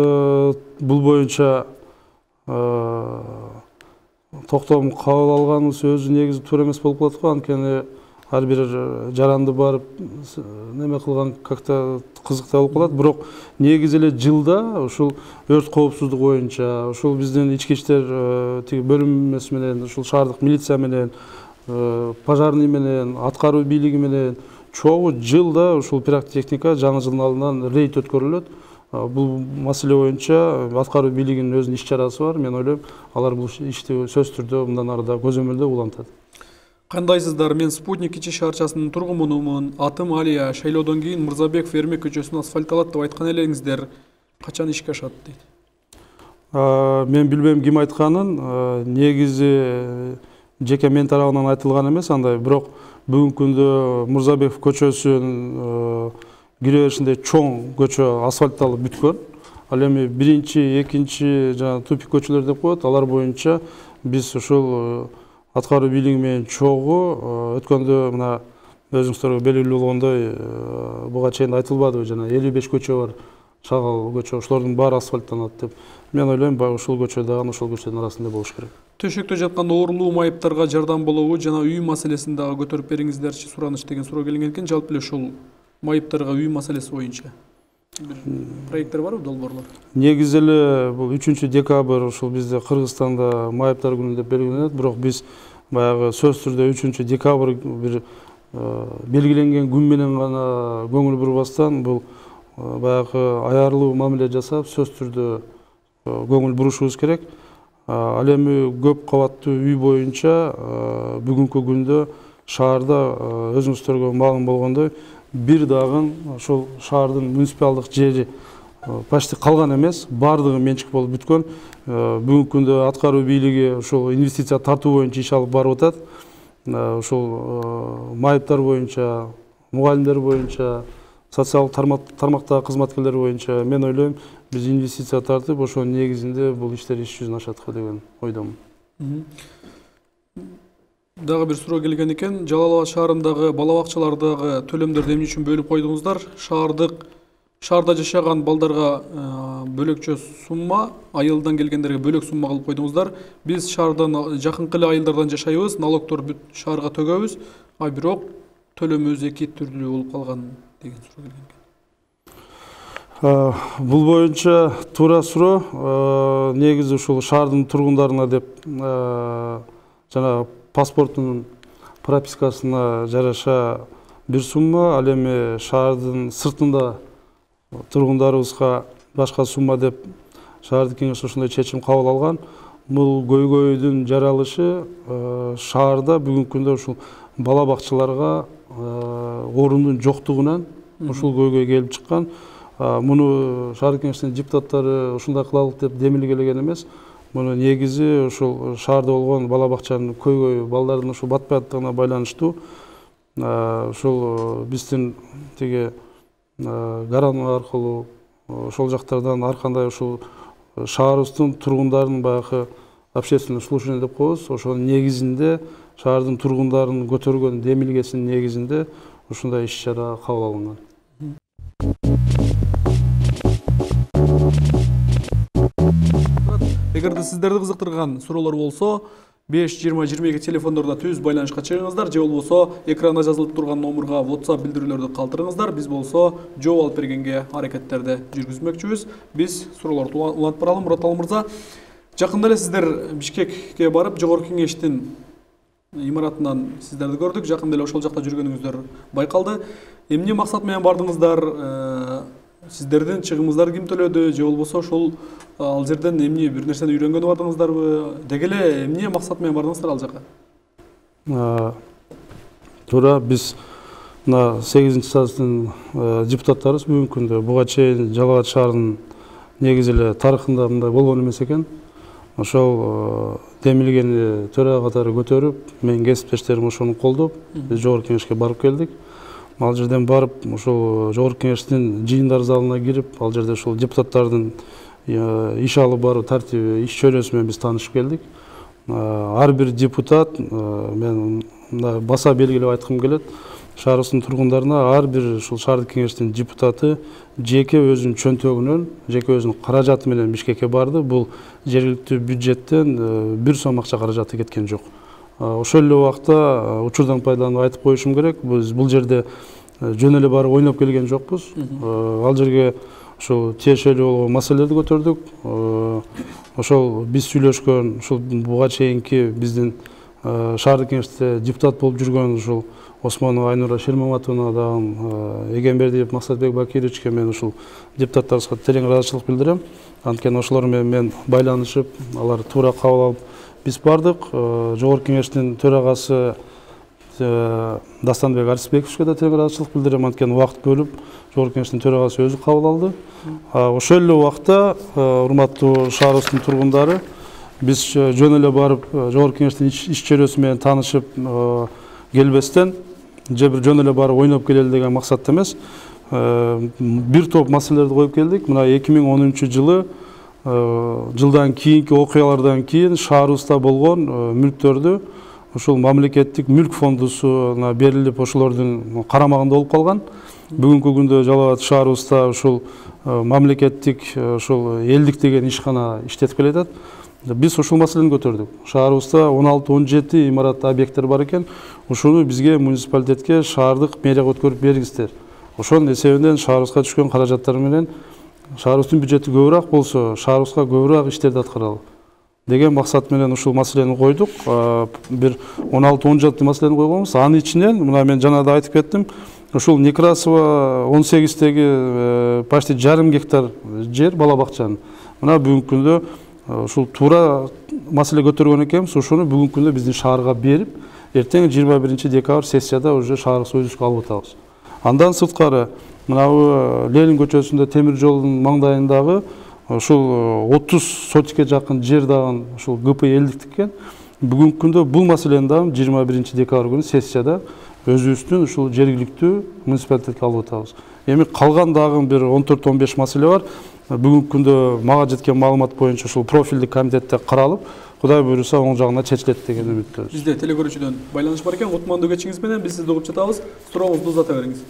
[SPEAKER 2] бул боюнча токтом кабыл алганыбыз өзү негизи туура эмес болуп калат го. Анткени ар бир жаранды барып неме кылган как-то кызыктуу болуп калат. Бирок негизи эле жылда ушул өрт коопсуздук боюнча ушул биздин ички иштер тиги бөлүмүбүз менен ушул шаардык милиция менен пожарный менен аткаруу бийлиги менен чогуу жылда ушул пиротехника жаңы жылдын алдынан рейд өткөрүлөт. Бул маселе боюнча аткаруу бийлигинин өзүнүн иш чарасы бар. Мен ойлойм, алар бул ишти сөзсүз түрдө мындан ары да көзөмөлдөө улантат.
[SPEAKER 1] Кандайсыздар? Мен Спутник ичи шаарчасынын тургунумун. Атым Алия. Шайлоодон кийин Мырзабеков Эрмек көчөсүн асфальтталат деп айткан элеңиздер. Качан ишке ашат дейт.
[SPEAKER 2] Мен билбейм ким айтканын. Негизи жеке мен тарабынан айтылган эмес андай. Бирок бүгүнкү күндө Мырзабеков көчөсүнүн кире беришинде чоң көчө асфальтталып бүткөн. Ал эми биринчи, экинчи жана тупик көчөлөр деп коет. Алар боюнча биз ушул аткаруу бийлиги менен чогуу өткөндө мына өзүңүздөргө белгилүү болгондой буга чейин айтылбадыбы, жана элүү беш көчө бар, чагал көчө, ошолордун баары асфальттанат деп. Мен ойлойм, ушул көчө дагы ошол көчөнүн арасында болуш керек.
[SPEAKER 1] Төшөктө жаткан оорулуу майыптарга жардам болобу жана үй маселесин дагы көтөрүп бериңиздерчи сураныч деген суроо келген экен. Жалпы эле ушул майыптарга үй маселеси боюнча бир проекттер барбы, долбоорлор? Негизи
[SPEAKER 2] эле бул үчүнчү декабрь ушул бизде Кыргызстанда майыптар күнү деп белгиленет, бирок биз баягы сөзсүз түрдө үчүнчү декабрь бир белгиленген күн менен гана көңүл бурбастан бул баягы аярлуу мамиле жасап сөзсүз түрдө көңүл бурушубуз керек. Ал эми көп кабаттуу үй боюнча бүгүнкү күндө шаарда өзүңүздөргө маалым болгондой бир дагы ошол шаардын муниципалдык жери почти калган эмес, баардыгы менчик болуп бүткөн. Бүгүнкү күндө аткаруу бийлиги ушул инвестиция тартуу боюнча иш алып барып атат. Ушул майыптар боюнча, мугалимдер боюнча, социалдык тармактагы кызматкерлер боюнча мен ойлойм, биз инвестиция тартып, ошонун негизинде бул иштер иш жүзүнө ашат деген ойдомун.
[SPEAKER 1] Дагы бир суроо келген экен. Жалал Абад шаарындагы бала бакчалардагы төлөмдөрдү эмне үчүн бөлүп койдуңуздар? Шаардык шаарда жашаган балдарга бөлөкчө сумма, айылдан келгендерге бөлөк сумма кылып койдуңуздар. Биз шаардан жакынкы эле айылдардан жашайбыз, налогтор бүт шаарга төгөбүз, а бирок төлөмүбүз эки түрлүү болуп калган деген суроо келген экен.
[SPEAKER 2] Бул боюнча туура суроо. Негизи ушул шаардын тургундарына деп жана паспорттун пропискасына жараша бир сумма, ал эми шаардын сыртында тургундарыбызга башка сумма деп шаардык кеңеш ошондой чечим кабыл алган. Бул көйгөйдүн жаралышы шаарда бүгүнкү күндө ушул бала бакчаларга орундун жоктугунан ушул көйгөй келип чыккан. Муну шаардык кеңештин депутаттары ушундай кылалык деп демилгелеген эмес. Муну негизи ушул шаарда болгон бала бакчанын көйгөйү, балдардын ушул батпааттыгына байланыштуу. Ушул биздин тиги гаран аркылуу ошол жактардан ар кандай ушул шаарыбыздын тургундарынын баягы общественный слушание деп коебуз. Ошонун негизинде шаардын тургундарынын көтөргөн демилгесинин негизинде ушундай иш чара кабыл алынган.
[SPEAKER 1] Эгерде сиздерди кызыктырган суроолор болсо, беш жыйырма жыйырма эки телефондордо түз байланышка чыгыңыздар, же болбосо экранда жазылып турган номурга WhatsApp билдирүүлөрдү калтырыңыздар. Биз болсо жооп алып бергенге аракеттерди жүргүзмөкчүбүз. Биз суроолорду улантып баралы. Мурат мырза, жакында эле сиздер Бишкекке барып, Жогорку Кеңештин имаратынан сиздерди көрдүк. Жакында эле ошол жакта жүргөнүңүздөр байкалды. Эмне максат менен бардыңыздар? Сиздердин чыгымыңыздарды ким төлөдү, же болбосо ошол ал жерден эмне бир нерсени үйрөнгөнү бардыңыздарбы? Деги эле эмне максат менен бардыңыздар ал жака?
[SPEAKER 2] Туура, биз мына сегизинчи съездин депутаттарыбыз бүгүнкү күндө буга чейин Жалал Абад шаарынын негизи эле тарыхында мындай болгон эмес экен. Ошол демилгени төрага катары көтөрүп, менин кесиптештерим ошону колдоп, биз Жогорку Кеңешке барып келдик. Ал жерден барып, ошол Жогорку Кеңештин жыйындар залына кирип, ал жерде ошол депутаттардын иш алып баруу тартиби, иш чөйрөсү менен биз таанышып келдик. Ар бир депутат, мен мындай баса белгилеп айткым келет, шаарыбыздын тургундарына ар бир ушул шаардык кеңештин депутаты жеке өзүнүн чөнтөгүнөн, жеке өзүнүн каражаты менен Бишкекке барды. Бул жергиликтүү бюджеттен бир сом акча каражаты кеткен жок. Ошол эле убакта учурдан пайдаланып айтып коюшум керек, биз бул жерде жөн эле барып ойноп келген жокпуз. Ал жерге ошол тиешелүү болгон маселелерди көтөрдүк. Ошол биз сүйлөшкөн, ушул буга чейинки биздин шаардык кеңеште депутат болуп жүргөн ушул Осмонова Айнура Шермаматовна дагы, Эгембердиев Максатбек Бакировичке мен ушул депутаттарыбызга терең ыраазычылык билдирем. Анткени ошолор менен мен байланышып, алар туура кабыл алып биз бардык. Жогорку Кеңештин төрагасы Дастанбек Арсбековичке да терең ыраазычылык билдирем, анткени убакыт бөлүп Жогорку Кеңештин төрагасы өзү кабыл алды. Ошол эле убакта, урматтуу шаарыбыздын тургундары, биз жөн эле барып Жогорку Кеңештин иш чөйрөсү менен таанышып келбестен, же бир жөн эле барып ойноп келели деген максатта эмес, бир топ маселелерди коюп келдик. Мына эки миң он үчүнчү жылы жылдан кийинки окуялардан кийин шаарыбызда болгон мүлктөрдү ушул мамлекеттик мүлк фондусуна берилип, ошолордун карамагында болуп калган. Бүгүнкү күндө Жалал Абад шаарыбызда ушул мамлекеттик ушул элдик деген ишкана иштетип келатат. Биз ушул маселени көтөрдүк. Шаарыбызда он алты он жети имарат объекттер бар экен. Ушуну бизге муниципалитетке шаардык мэрияга өткөрүп бериңиздер. Ошонун эсебинен шаарыбызга түшкөн каражаттар менен шаарыбыздын бюджети көбүрөөк болсо, шаарыбызга көбүрөөк иштерди аткаралы деген максат менен ушул маселени койдук. Бир он алты он жети маселени койгонбуз. Анын ичинен мына мен жана да айтып кеттим, ушул Некрасова он сегиздеги почти жарым гектар жер бала бакчанын. Мына бүгүнкү күндө ушул туура маселе көтөргөн экенбиз. Ошону бүгүнкү күндө биздин шаарга берип, эртең жыйырма биринчи декабрь сессияда уже шаарыбыз өзүбүзгө алып атабыз. Андан сырткары, мына Ленин көчөсүндө темир жолдун маңдайындагы ушул отуз сотикке жакын жер дагы ушул ГП элдиктик экен. Бүгүнкү күндө бул маселени дагы жыйырма биринчи декабрь күнү сессияда өзүбүздүн ушул жергиликтүү муниципалитетке алып атабыз. Эми калган дагы бир он төрт он беш маселе бар. Бүгүнкү күндө мага жеткен маалымат боюнча ушул профилдик комитетте каралып, Кудай буйруса оң жагына чечилет деген үмүттөбүз.
[SPEAKER 1] Бизде телекөрүүчүдөн байланыш бар экен. Кутмандуу кечиңиз менен биз сизди угуп жатабыз. Сурооңузду узата бериңиз.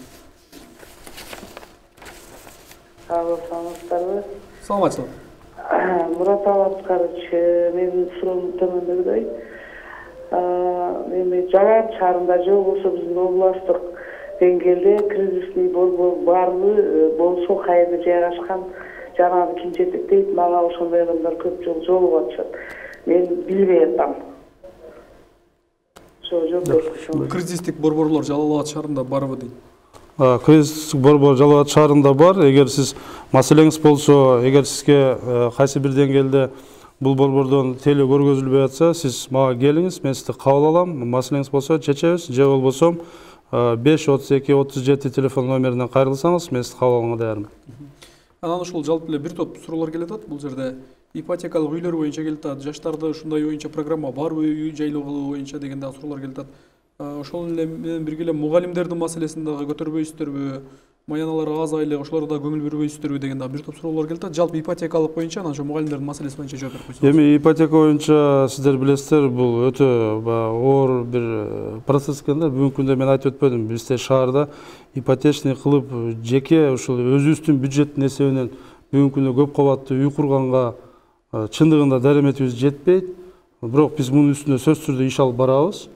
[SPEAKER 3] Саламатсыздарбы?
[SPEAKER 1] Саламатчылык.
[SPEAKER 3] Мурат Абаскарович, менин суроом төмөндөгүдөй. Эми Жалал Абад шаарында же болбосо биздин областтык деңгээлде кризисный борбор барбы, болсо кайерде жайгашкан, жанагы ким жетектейт, мага ошондой адамдар көп жолу жолугуп атышат. Мен билбей атам. Ошо жооп
[SPEAKER 1] кризистик борборлор Жалал Абад шаарында барбы дейт.
[SPEAKER 2] Кризистик борбор Жалал Абад шаарында бар. Эгер сиз маселеңиз болсо, эгер сизге кайсы бир деңгээлде бул борбордон теле көргөзүлбөй атса, сиз мага келиңиз, мен сизди кабыл алам. Маселеңиз болсо чечебиз, же болбосо беш отуз эки отуз жети телефон номеринен кайрылсаңыз, мен сизди кабыл алганга даярмын.
[SPEAKER 1] Анан ушул жалпы эле бир топ суроолор келатат. Бул жерде ипотекалык үйлөр боюнча келатат, жаштарды ушундай боюнча программа барбы, үй жайлоо кылуу боюнча деген дагы суроолор келатат. Ошол эле менен бирге эле мугалимдердин маселесин дагы көтөрбөйсүздөрбү, маяналар аз айлык, ошолорго да көңүл бербейсиздерби деген дагы бир топ суроолор келатат. Жалпы ипотекалык боюнча анан ошо мугалимдердин маселеси боюнча жооп берип койсоңуз.
[SPEAKER 2] Эми ипотека боюнча сиздер билесиздер, бул өтө оор бир процесс экен да. Бүгүнкү күндө мен айтып өтпөдүм, бизде шаарда ипотечный кылып жеке ушул өзүбүздүн бюджеттин эсебинен бүгүнкү күндө көп кабаттуу үй курганга чындыгында дареметибиз жетпейт. Бирок биз мунун үстүнө сөзсүз түрдө иш алып барабыз.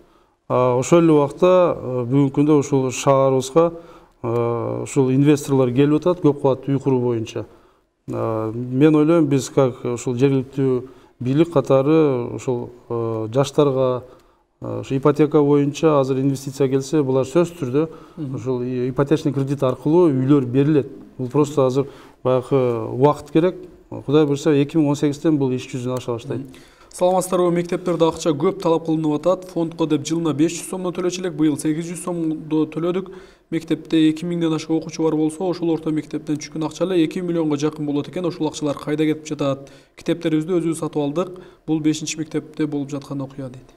[SPEAKER 2] Ошол эле убакта бүгүнкү күндө ушул шаарыбызга ушул инвесторлор келип атат көп кабаттуу үй куруу боюнча. Мен ойлойм, биз как ушул жергиликтүү бийлик катары ушул жаштарга ипотека боюнча азыр инвестиция келсе, булар сөзсүз түрдө ушул ипотечный кредит аркылуу үйлөр берилет. Бул просто азыр баягы убакыт керек. Кудай буйрса эки миң он сегизден бул иш жүзүнө аша баштайт.
[SPEAKER 1] Саламатсыздарбы, мектептерде акча көп талап кылынып атат. Фондко деп жылына беш жүз сомдон төлөчү элек, быйыл сегиз жүз сомдо төлөдүк. Мектепте эки миңден ашык окуучу бар болсо, ошол орто мектептен түшкөн акча эле эки миллионго жакын болот экен. Ошол акчалар кайда кетип жатат? Китептерибизди өзүбүз сатып алдык. Бул бешинчи мектепте болуп жаткан окуя дейт.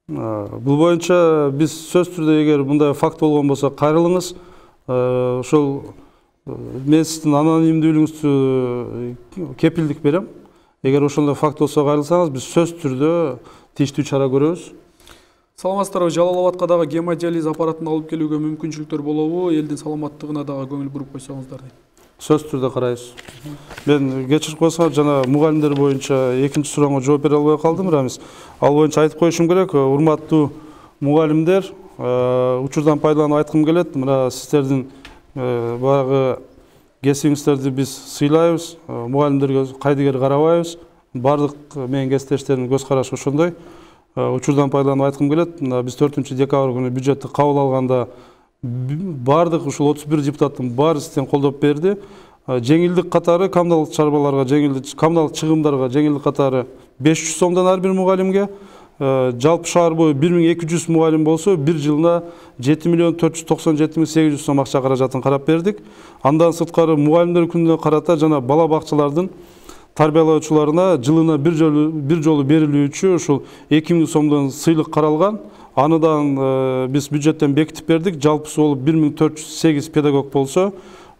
[SPEAKER 2] Бул боюнча биз сөзсүз түрдө эгер мындай факт болгон болсо кайрылыңыз. Ошол мен сиздин анонимдүүлүгүңүздү кепилдик берем. Эгер ошондой факт болсо кайрылсаңыз, биз сөзсүз түрдө тийиштүү чара көрөбүз.
[SPEAKER 1] Саламатсыздарбы, Жалал Абадка дагы гемодиализ аппаратын алып келүүгө мүмкүнчүлүктөр болобу? Элдин саламаттыгына дагы көңүл буруп койсоңуздар дейт.
[SPEAKER 2] Сөзсүз түрдө карайбыз. Мен кечирип койсоңуз, жана мугалимдер боюнча экинчи суроого жооп бере албай калдым, Рамис. Ал боюнча айтып коюшум керек, урматтуу мугалимдер, учурдан пайдаланып айткым келет. Мына сиздердин баягы кесибиңиздерди биз сыйлайбыз, мугалимдерге кайдыгер карабайбыз. Бардык менин кесиптештеримдин көз карашы ошондой. Учурдан пайдаланып айткым келет. Биз төртүнчү декабрь күнү бюджетти кабыл алганда бардык ушул отуз бир депутаттын баары сизден колдоп берди. Жеңилдик катары коммуналдык чарбаларга, жеңилдик коммуналдык чыгымдарга жеңилдик катары беш жүз сомдон ар бир мугалимге, жалпы шаар бою бир миң эки жүз мугалим болсо, бир жылына жети миллион төрт жүз токсон жети миң сегиз жүз сом акча каражатын карап бердик. Андан сырткары мугалимдер күнүнө карата жана бала бакчалардын тарбиялоочуларына жылына бир жолу бир жолу берилүүчү ушул эки миң сомдон сыйлык каралган. Аныдан биз бюджеттен бекитип бердик. Жалпысы болуп бир миң төрт жүз сегиз педагог болсо,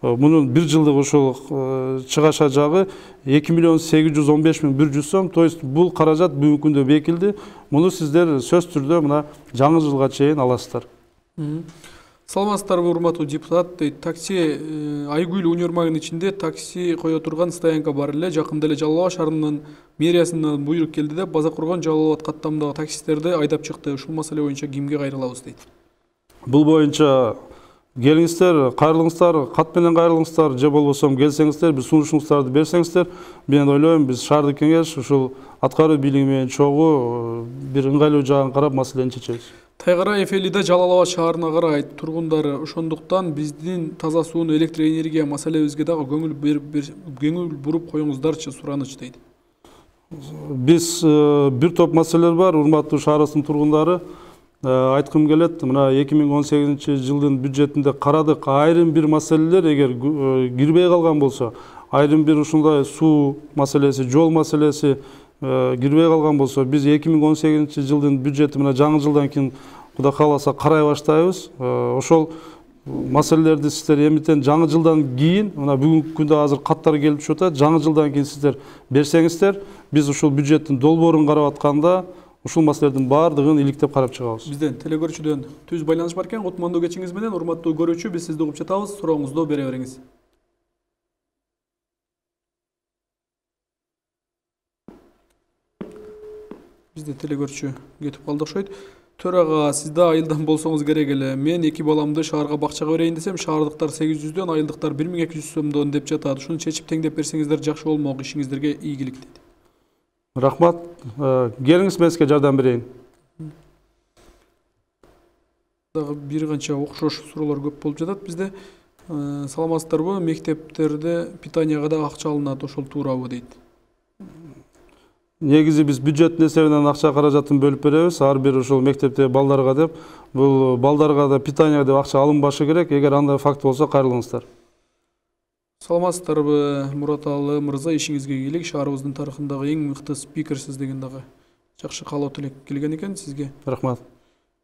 [SPEAKER 2] мунун бир жылдык ушул чыгаша жагы эки миллион сегиз жүз он беш миң бир жүз сом. То есть бул каражат бүгүнкү күндө бекилди. Муну сиздер сөзсүз түрдө мына жаңы жылга чейин аласыздар.
[SPEAKER 1] Саламатсыздарбы, урматтуу депутат, такси Айгүл универмагынын ичинде такси кое турган стоянка бар эле. Жакында эле Жалал Абад шаарынын мэриясынан буйрук келди деп, база курган Жалал Абад каттамдагы таксисттерди айдап чыкты. Ушул маселе боюнча кимге кайрылабыз дейт.
[SPEAKER 2] Бул боюнча келиңиздер, кайрылыңыздар, кат менен кайрылыңыздар, же болбосо келсеңиздер, бир сунушуңуздарды берсеңиздер, мен ойлойм, биз шаардык кеңеш ушул аткаруу бийлиги менен чогуу бир ыңгайлуу жагын карап маселени чечебиз.
[SPEAKER 1] Тайгара Эфелида Жалал Абад шаарына карайт тургундары, ошондуктан биздин таза сууну, электр энергия маселебизге дагы көңүл көңүл буруп коюңуздарчы, сураныч дейт.
[SPEAKER 2] Биз бир топ маселелер бар, урматтуу шаарыбыздын тургундары. Айткым келет, мына эки миң он сегизинчи жылдын бюджетинде карадык, айрым бир маселелер эгер кирбей калган болсо, айрым бир ушундай суу маселеси, жол маселеси кирбей калган болсо, биз эки миң он сегизинчи жылдын бюджети мына жаңы жылдан кийин Кудай кааласа карай баштайбыз. Ошол маселелерди сиздер эмитен жаңы жылдан кийин, мына бүгүнкү күндө азыр каттар келип түшүп атат, жаңы жылдан кийин сиздер берсеңиздер, биз ушул бюджеттин долбоорун карап атканда ушул маселелердин баардыгын иликтеп карап чыгабыз.
[SPEAKER 1] Бизден телекөрүүчүдөн түз байланыш бар экен. Кутмандуу кечиңиз менен, урматтуу көрүүчү, биз сизди угуп жатабыз. Сурооңузду бере бериңиз. Бизде телекөрүүчү кетип калды окшойт. Төрага, сизде айылдан болсоңуз керек эле. Мен эки баламды шаарга бакчага берейин десем, шаардыктар сегиз жүздөн, айылдыктар бир миң эки жүз сомдон деп жатат. Ушуну чечип теңдеп берсеңиздер жакшы болмок, ишиңиздерге ийгилик дейт.
[SPEAKER 2] Рахмат. Келиңиз, мен сизге жардам берейин.
[SPEAKER 1] Дагы бир канча окшош суроолор көп болуп жатат бизде. Саламатсыздарбы, мектептерде питанияга да акча алынат, ошол туурабы дейт.
[SPEAKER 2] Негизи биз бюджеттин эсебинен акча каражатын бөлүп беребиз. Ар бир ошол мектепте балдарга деп, бул балдарга да питания деп акча алынбашы керек. Эгер андай факт болсо кайрылыңыздар.
[SPEAKER 1] Саламатсыздарбы, Мураталы мырза, ишиңизге ийгилик. Шаарыбыздын тарыхындагы эң мыкты спикерсиз деген дагы жакшы каалоо тилек келген экен сизге.
[SPEAKER 2] Рахмат.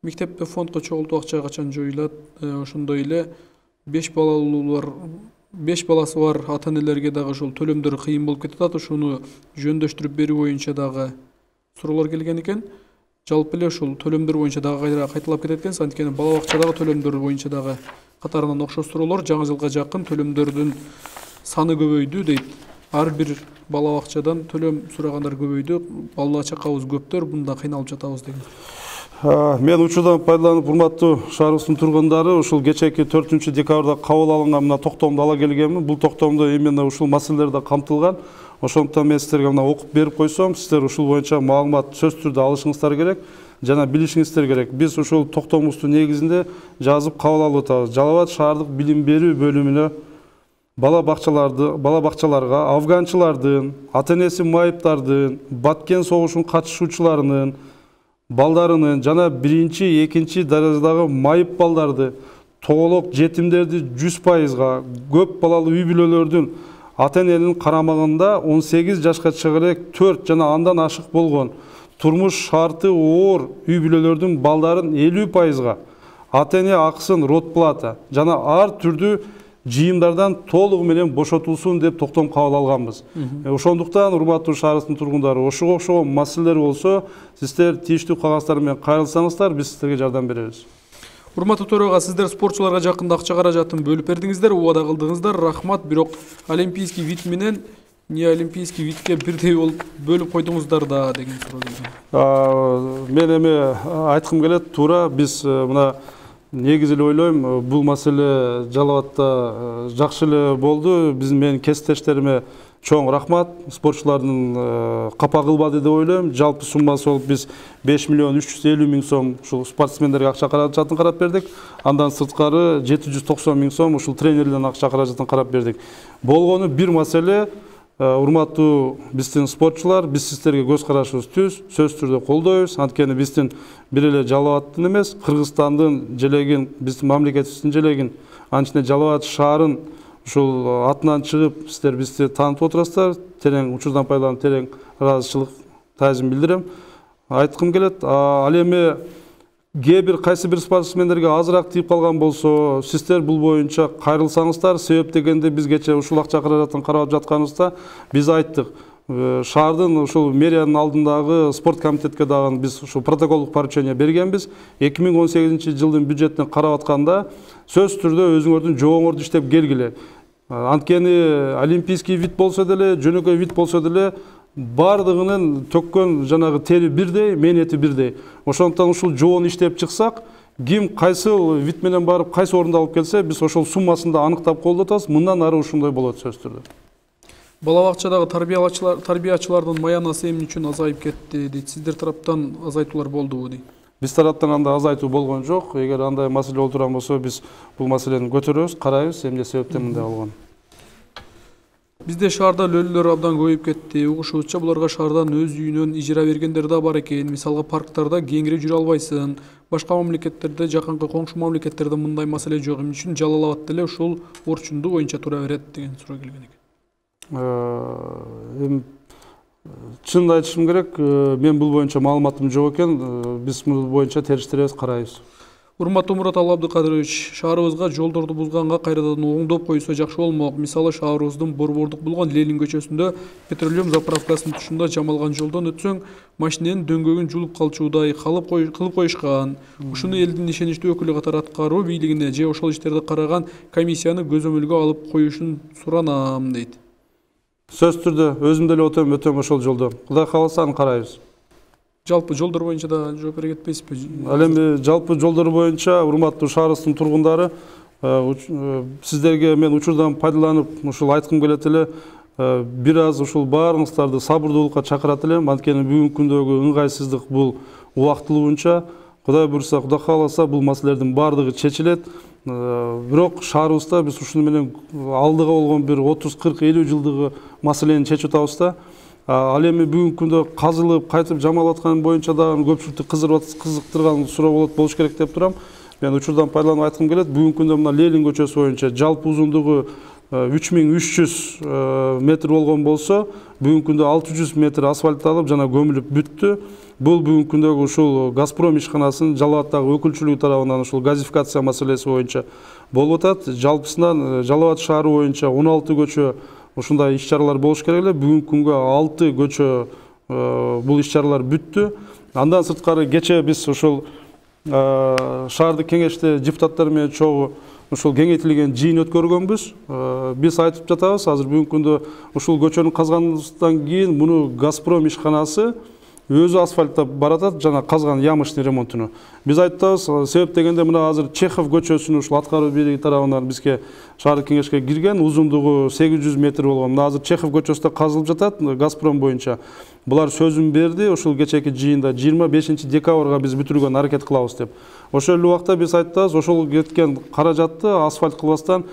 [SPEAKER 1] Мектепте фондко чогултуу акча качан жоюлат? Ошондой эле беш балалуулар, беш баласы бар ата-энелерге дагы ошол төлөмдөр кыйын болуп кетип атат. Ошону жөндөштүрүп берүү боюнча дагы суроолор келген экен. Жалпы эле ошол төлөмдөр боюнча дагы кайталап кетет экен. Анткени бала бакчадагы төлөмдөр боюнча дагы катарынан окшош суроолор. Жаңы жылга жакын төлөмдөрдүн саны көбөйдү дейт. ар бир бала бакчадан төлөм сурагандар көбөйдү, бала чакабыз көптөр, мында кыйналып жатабыз деген.
[SPEAKER 2] Мен учурдан пайдаланып, урматтуу шаарыбыздын тургундары, ушул кечээки төртүнчү декабрда кабыл алынган мына токтомду ала келгенмин. Бул токтомдо именно ушул маселелер камтылган. Ошондуктан мен сиздерге мына окуп берип койсом, сиздер ушул боюнча маалымат сөзсүз түрдө алышыңыздар керек, жана билишиңиздер керек. Биз ушул токтомубуздун негизинде жазып кабыл алып атабыз. Жалал Абад шаардык билим берүү бөлүмүнө бала бакчаларды, бала бакчаларга афганчылардын, ата-энеси майыптардын, Баткен согушунун катышуучуларынын балдарынын жана биринчи, экинчи даражадагы майып балдарды, тоголок жетимдерди жүз пайызга, көп балалуу үй бүлөлөрдүн ата-эненин карамагында он сегиз жашка чыга элек төрт жана андан ашык болгон турмуш шарты оор үй бүлөлөрдүн балдарын элүү пайызга ата-эне акысын ротплата жана ар түрдүү жыйымдардан толугу менен бошотулсун деп токтом кабыл алганбыз. Ошондуктан урматтуу шаарыбыздын тургундары, ошого окшогон маселелер болсо, сиздер тийиштүү кагаздар менен кайрылсаңыздар, биз сиздерге жардам беребиз.
[SPEAKER 1] Урматтуу төрага, сиздер спортчуларга жакында акча каражатын бөлүп бердиңиздер, убада кылдыңыздар, рахмат. Бирок олимпийский вид менен не олимпийский видке бирдей болуп бөлүп койдуңуздар да деген суроо келген.
[SPEAKER 2] Мен эми айткым келет, туура биз мына негизи эле ойлойм, бул маселе Жалал Абадта жакшы эле болду. Биздин менин кесиптештериме чоң рахмат. Спортчулардын капа кылбады деп ойлойм. Жалпы суммасы болуп биз беш миллион үч жүз элүү миң сом ушул спортсмендерге акча каражатын карап бердик. Андан сырткары жети жүз токсон миң сом ушул тренерлердин акча каражатын карап бердик. Болгону бир маселе, урматтуу биздин спортчулар, биз сиздерге көз карашыбыз түз, сөзсүз түрдө колдойбуз. Анткени биздин бир эле Жалал Абадтын эмес, Кыргызстандын желегин, биздин мамлекетибиздин желегин, анча Жалал Абад шаарын ушул атынан чыгып, сиздер бизди таанытып отурасыздар. Терең учурдан пайдаланып, терең ыраазычылык таазим билдирем. Айткым келет, ал эми кээ бир кайсы бир спортсмендерге азыраак тийип калган болсо, сиздер бул боюнча кайрылсаңыздар, себеп дегенде биз кечээ ушул акча каражатын карап жатканыбызда биз айттык. Шаардын ушул мэриянын алдындагы спорт комитетке дагы биз ушул протоколдук поручение бергенбиз. эки миң он сегизинчи жылдын бюджетин карап атканда сөзсүз түрдө өзүңөрдүн жобоңорду иштеп келгиле. Анткени олимпийский вид болсо деле, жөнөкөй вид болсо деле бардыгынын төккөн жанагы тери бирдей, мээнети бирдей. Ошондуктан ушул жобону иштеп чыксак, ким кайсыл вид менен барып кайсы орунду алып келсе, биз ошол суммасын да аныктап колдотабыз. Мындан ары ушундай болот сөзсүз түрдө.
[SPEAKER 1] Бала бакчадагы тарбиячылардын маянасы эмне үчүн азайып кетти дейт. Сиздер тараптан азайтуулар болдубу дейт.
[SPEAKER 2] Биз тараптан анда азайтуу болгон жок. Эгер андай маселе боло турган болсо, биз бул маселени көтөрөбүз, карайбыз, эмне себептен мындай болгон.
[SPEAKER 1] Бизде шаарда лөлүлөр абдан көбөйүп кетти. Угушубузча, буларга шаардан өз үйүнөн ижара бергендер да бар экен. Мисалга парктарда кеңири жүрө албайсың. Башка мамлекеттерде, жакынкы коңшу мамлекеттерде мындай маселе жок. Эмне үчүн Жалал Абадта эле ушул орчунду боюнча тура берет деген суроо келген экен.
[SPEAKER 2] Эми чынын айтышым керек, мен бул боюнча маалыматым жок экен. Биз бул боюнча териштиребиз, карайбыз.
[SPEAKER 1] Урматтуу Мураталы Абдыкадырович, шаарыбызга жолдорду бузганга кайрадан оңдоп койсо жакшы болмок. Мисалы, шаарыбыздын борбордук болгон Ленин көчөсүндө петролеум заправкасынын тушунда жамалган жолдон өтсөң, машиненин дөңгөгүн жулуп калчуудай кылып коюшкан. Ушуну элдин ишеничтүү өкүлү катары аткаруу бийлигине же ошол иштерди караган комиссияны көзөмөлгө алып коюшун суранам дейт.
[SPEAKER 2] Сөзсүз түрдө өзүм деле өтөм, өтөм ошол жолдо. Кудай кааласа аны карайбыз.
[SPEAKER 1] Жалпы жолдор боюнча да жооп бере кетпейсизби?
[SPEAKER 2] Ал эми жалпы жолдор боюнча урматтуу шаарыбыздын тургундары, сиздерге мен учурдан пайдаланып ушул айткым келет эле, бир аз ушул баарыңыздарды сабырдуулукка чакырат элем. Анткени бүгүнкү күндөгү ыңгайсыздык бул убактылуунча, Кудай буйрса, Кудай кааласа бул маселелердин баардыгы чечилет. Бирок шаарыбызда биз ушуну менен алдыга болгон бир отуз кырк элүү жылдыгы маселени чечип атабыз да. Ал эми бүгүнкү күндө казылып, кайтып жамалып аткан боюнча дагы көпчүлүктү кызыктырган суроо болот болуш керек деп турам. Мен учурдан пайдаланып айткым келет. Бүгүнкү күндө мына Ленин көчөсү боюнча жалпы узундугу үч миң үч жүз метр болгон болсо, бүгүнкү күндө алты жүз метр асфальтталып жана көмүлүп бүттү. Бул бүгүнкү күндөгү ушул Газпром ишканасынын Жалал Абадтагы өкүлчүлүгү тарабынан ушул газификация маселеси боюнча болуп атат. Жалпысынан Жалал Абад шаары боюнча он алты көчө ушундай иш-чаралар болуш керек эле. Бүгүнкү күнгө алты көчө бул иш-чаралар бүттү. Андан сырткары кечээ биз ушул шаардык кеңеште депутаттар менен чогуу ушул кеңейтилген жыйын өткөргөнбүз. Биз айтып жатабыз, азыр бүгүнкү күндө ушул көчөнү казгандан кийин муну Газпром ишканасы өзү асфальттап баратат жана казган ямочный ремонтуну. Биз айтабыз, себеп дегенде мына азыр Чехов көчөсүнүн ушул аткаруу бийлиги тарабынан бизге шаардык кеңешке кирген, узундугу сегиз жүз метр болгон. Мына азыр Чехов көчөсү да казылып жатат Газпром боюнча. Булар сөзүн берди, ушул кечээки жыйында жыйырма бешинчи декабрга биз бүтүргөнгө аракет кылабыз деп. Ошол эле убакта биз айтабыз, ошол кеткен каражатты асфальт кылбастан,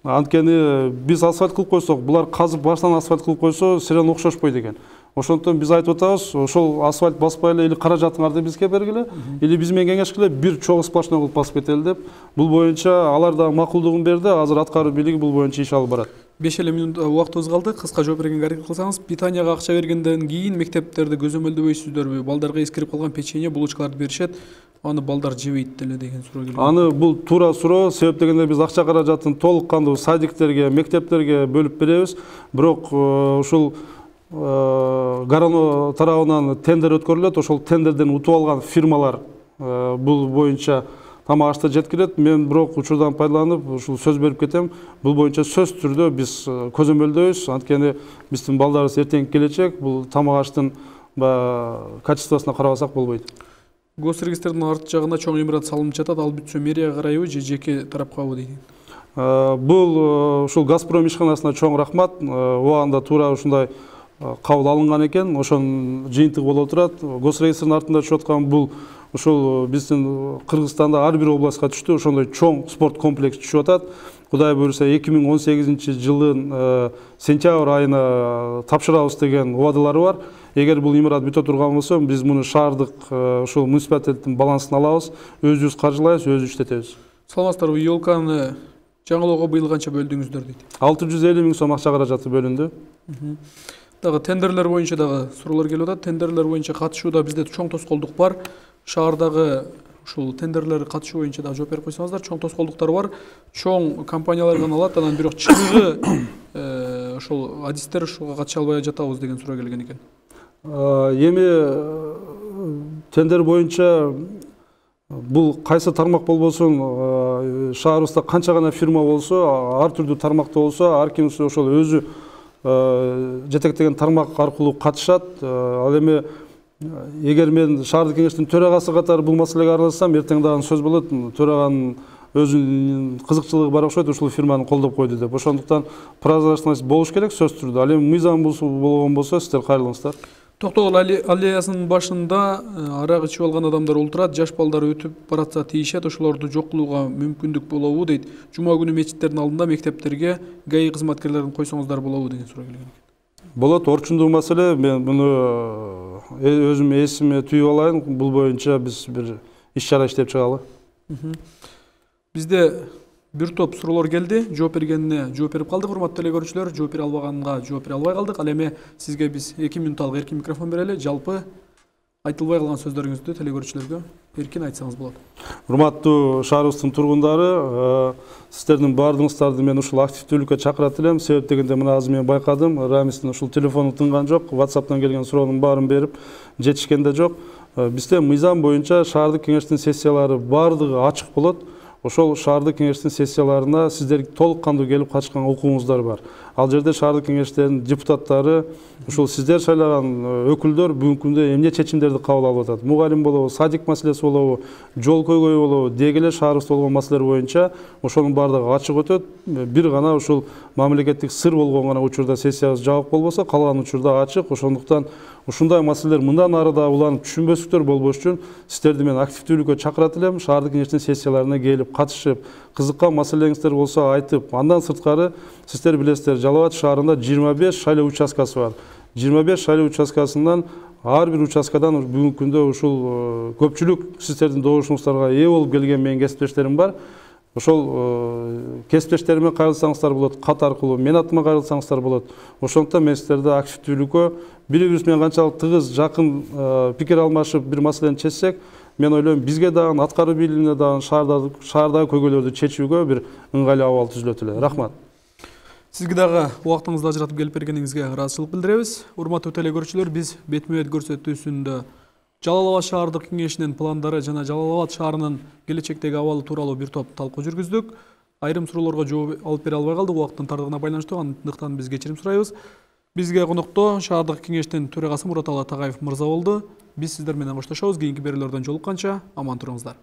[SPEAKER 2] анткени биз асфальт кылып койсок, булар казып баштан асфальт кылып койсо, сирен окшошпойт экен. Ошондон биз айтып атабыз, ошол асфальт баспай эле или каражатыңарды бизге бергиле, или биз менен кеңешкиле бир чогуу сплошной кылып басып кетели деп. Бул боюнча алар да макулдугун берди, азыр аткаруу бийлиги бул боюнча иш алып барат.
[SPEAKER 1] беш эле минут убактыбыз калды. Кыска жооп бергенге аракет кылсаңыз, питанияга акча бергенден кийин мектептерде көзөмөлдөбөйсүздөрбү? Балдарга эскирип калган печенье, булочкаларды беришет, аны балдар жебейт деле деген суроо келген.
[SPEAKER 2] Аны бул туура суроо, себеп дегенде биз акча каражатын толук кандуу садиктерге, мектептерге бөлүп беребиз. Бирок ушул Гарано тарабынан тендер өткөрүлөт, ошол тендерден утуп алган фирмалар бул боюнча тамак ашты жеткирет. Мен бирок учурдан пайдаланып ушул сөз берип кетем. Бул боюнча сөз түрдө биз көзөмөлдөйбүз. Анткени биздин балдарыбыз эртеңки келечек, бул тамак аштын качествосуна карабасак болбойт.
[SPEAKER 1] Госрегистрдин арт жагында чоң имарат салынып жатат, ал бүтсө мэрияга карайбы же жеке тарапкабы дейт.
[SPEAKER 2] Бул ушул Газпром ишканасына чоң рахмат. Убагында туура ушундай кабыл алынган экен, ошонун жыйынтыгы боло турат. Госрегистрдин артында түшүп аткан бул ушул биздин Кыргызстанда ар бир областка түштү, ошондой чоң спорт комплекси түшүп атат. Кудай буйруса эки миң он сегизинчи жылдын сентябрь айына тапшырабыз деген убадалары бар. Эгер бул имарат бүтө турган болсо, биз муну шаардык ушул муниципалитеттин балансына алабыз, өзүбүз каржылайбыз, өзүбүз иштетебиз.
[SPEAKER 1] Саламатсыздарбы, ёлканы жаңылоого быйыл канча бөлдүңүздөр дейт?
[SPEAKER 2] алты жүз элүү миң сом акча каражаты бөлүндү.
[SPEAKER 1] Дагы тендерлер боюнча дагы суроолор келип атат. Тендерлер боюнча катышууда бизде чоң тоскоолдук бар. Шаардагы ушул тендерлер катышуу боюнча дагы жооп берип койсоңуздар, чоң тоскоолдуктар бар. Чоң компаниялар гана алат, анан бирок чыныгы ошол адистер ушуга катыша албай жатабыз деген суроо келген экен.
[SPEAKER 2] Эми тендер боюнча бул кайсы тармак болбосун, шаарыбызда канча гана фирма болсо, ар түрдүү тармакта болсо, ар ким ошол өзү жетектеген тармак аркылуу катышат. Ал эми эгер мен шаардык кеңештин төрагасы катары бул маселеге аралашсам, эртең дагы сөз болот, төраганын өзүнүн кызыкчылыгы бар окшойт, ушул фирманы колдоп койду деп. Ошондуктан прозрачность болуш керек сөз түрдө. Ал эми мыйзам болгон болсо, сиздер кайрылыңыздар.
[SPEAKER 1] Токтогул аллеясынын башында арак ичип алган адамдар олтурат, жаш балдар өтүп баратса тийишет, ошолорду жок кылууга мүмкүндүк болобу дейт. Жума күнү мечиттердин алдында мектептерге ГАИ кызматкерлерин койсоңуздар болобу деген суроо келген экен.
[SPEAKER 2] Болот, орчундуу маселе. Мен муну өзүм эсиме түйүп алайын. Бул боюнча биз бир иш чара иштеп чыгалы.
[SPEAKER 1] Бизде бир топ суроолор келди. Жооп бергенине жооп берип калдык, урматтуу эле көрүүчүлөр. Жооп бере албаганга жооп бере албай калдык. Ал эми сизге биз эки минутталык эркин микрофон берели. Жалпы айтылбай калган сөздөрүңүздү теле көрүүчүлөргө эркин айтсаңыз болот.
[SPEAKER 2] Урматтуу шаарыбыздын тургундары, сиздердин баардыгыңыздарды мен ушул активдүүлүккө чакырат элем. Себеп дегенде мына азыр мен байкадым, Рамистин ушул телефону тынган жок, WhatsApp'тан келген суроонун баарын берип жетишкен да жок. Бизде мыйзам боюнча шаардык кеңештин сессиялары баардыгы ачык болот. Ошол шаардык кеңештин сессияларына сиздер толук кандуу келип катышкан укугуңуздар бар. Ал жерде шаардык кеңештердин депутаттары, ушул сиздер шайлаган өкүлдөр бүгүнкү күндө эмне чечимдерди кабыл алып атат? Мугалим болобу, садик маселеси болобу, жол көйгөй болобу, деги эле шаарыбызда болгон маселелер боюнча ошонун баардыгы ачык өтөт. Бир гана ушул мамлекеттик сыр болгон гана учурда сессиябыз жабык болбосо, калган учурда ачык. Ошондуктан ушундай маселелер мындан ары да уланып түшүнбөстүктөр болбош үчүн сиздерди мен активдүүлүккө чакырат элем. Шаардык кеңештин сессияларына келип катышып, кызыккан маселеңиздер болсо айтып, андан сырткары сиздер билесиздер, Жалал Абад шаарында жыйырма беш шайлоо участкасы бар. жыйырма беш шайлоо участкасынан ар бир участкадан бүгүнкү күндө ушул көпчүлүк сиздердин добушуңуздарга ээ болуп келген менин кесиптештерим бар. Ошол кесиптештериме кайрылсаңыздар болот, кат аркылуу мен атыма кайрылсаңыздар болот. Ошондуктан мен сиздерди активдүүлүккө бири-бирибиз менен канчалык тыгыз, жакын пикир алмашып бир маселени чечсек, мен ойлойм бизге дагы аткаруу бийлигине дагы шаардагы көйгөйлөрдү чечүүгө бир ыңгайлуу абал түзүлөт эле. Рахмат.
[SPEAKER 1] Сизге дагы убактыңызды ажыратып келип бергениңизге ыраазычылык билдиребиз. Урматтуу теле көрүүчүлөр, биз бетме-бет көрсөтүүсүндө Жалал Абад шаардык кеңешинин пландары жана Жалал Абад шаарынын келечектеги абалы тууралуу бир топ талкуу жүргүздүк. айрым суроолорго жооп алып бере албай калдык убакыттын тардыгына байланыштуу, андыктан биз кечирим сурайбыз. Бизге конокто шаардык кеңештин төрагасы Мураталы Тагаев мырза болду. Биз сиздер менен коштошобуз. Кийинки берүүлөрдөн жолукканча аман туруңуздар.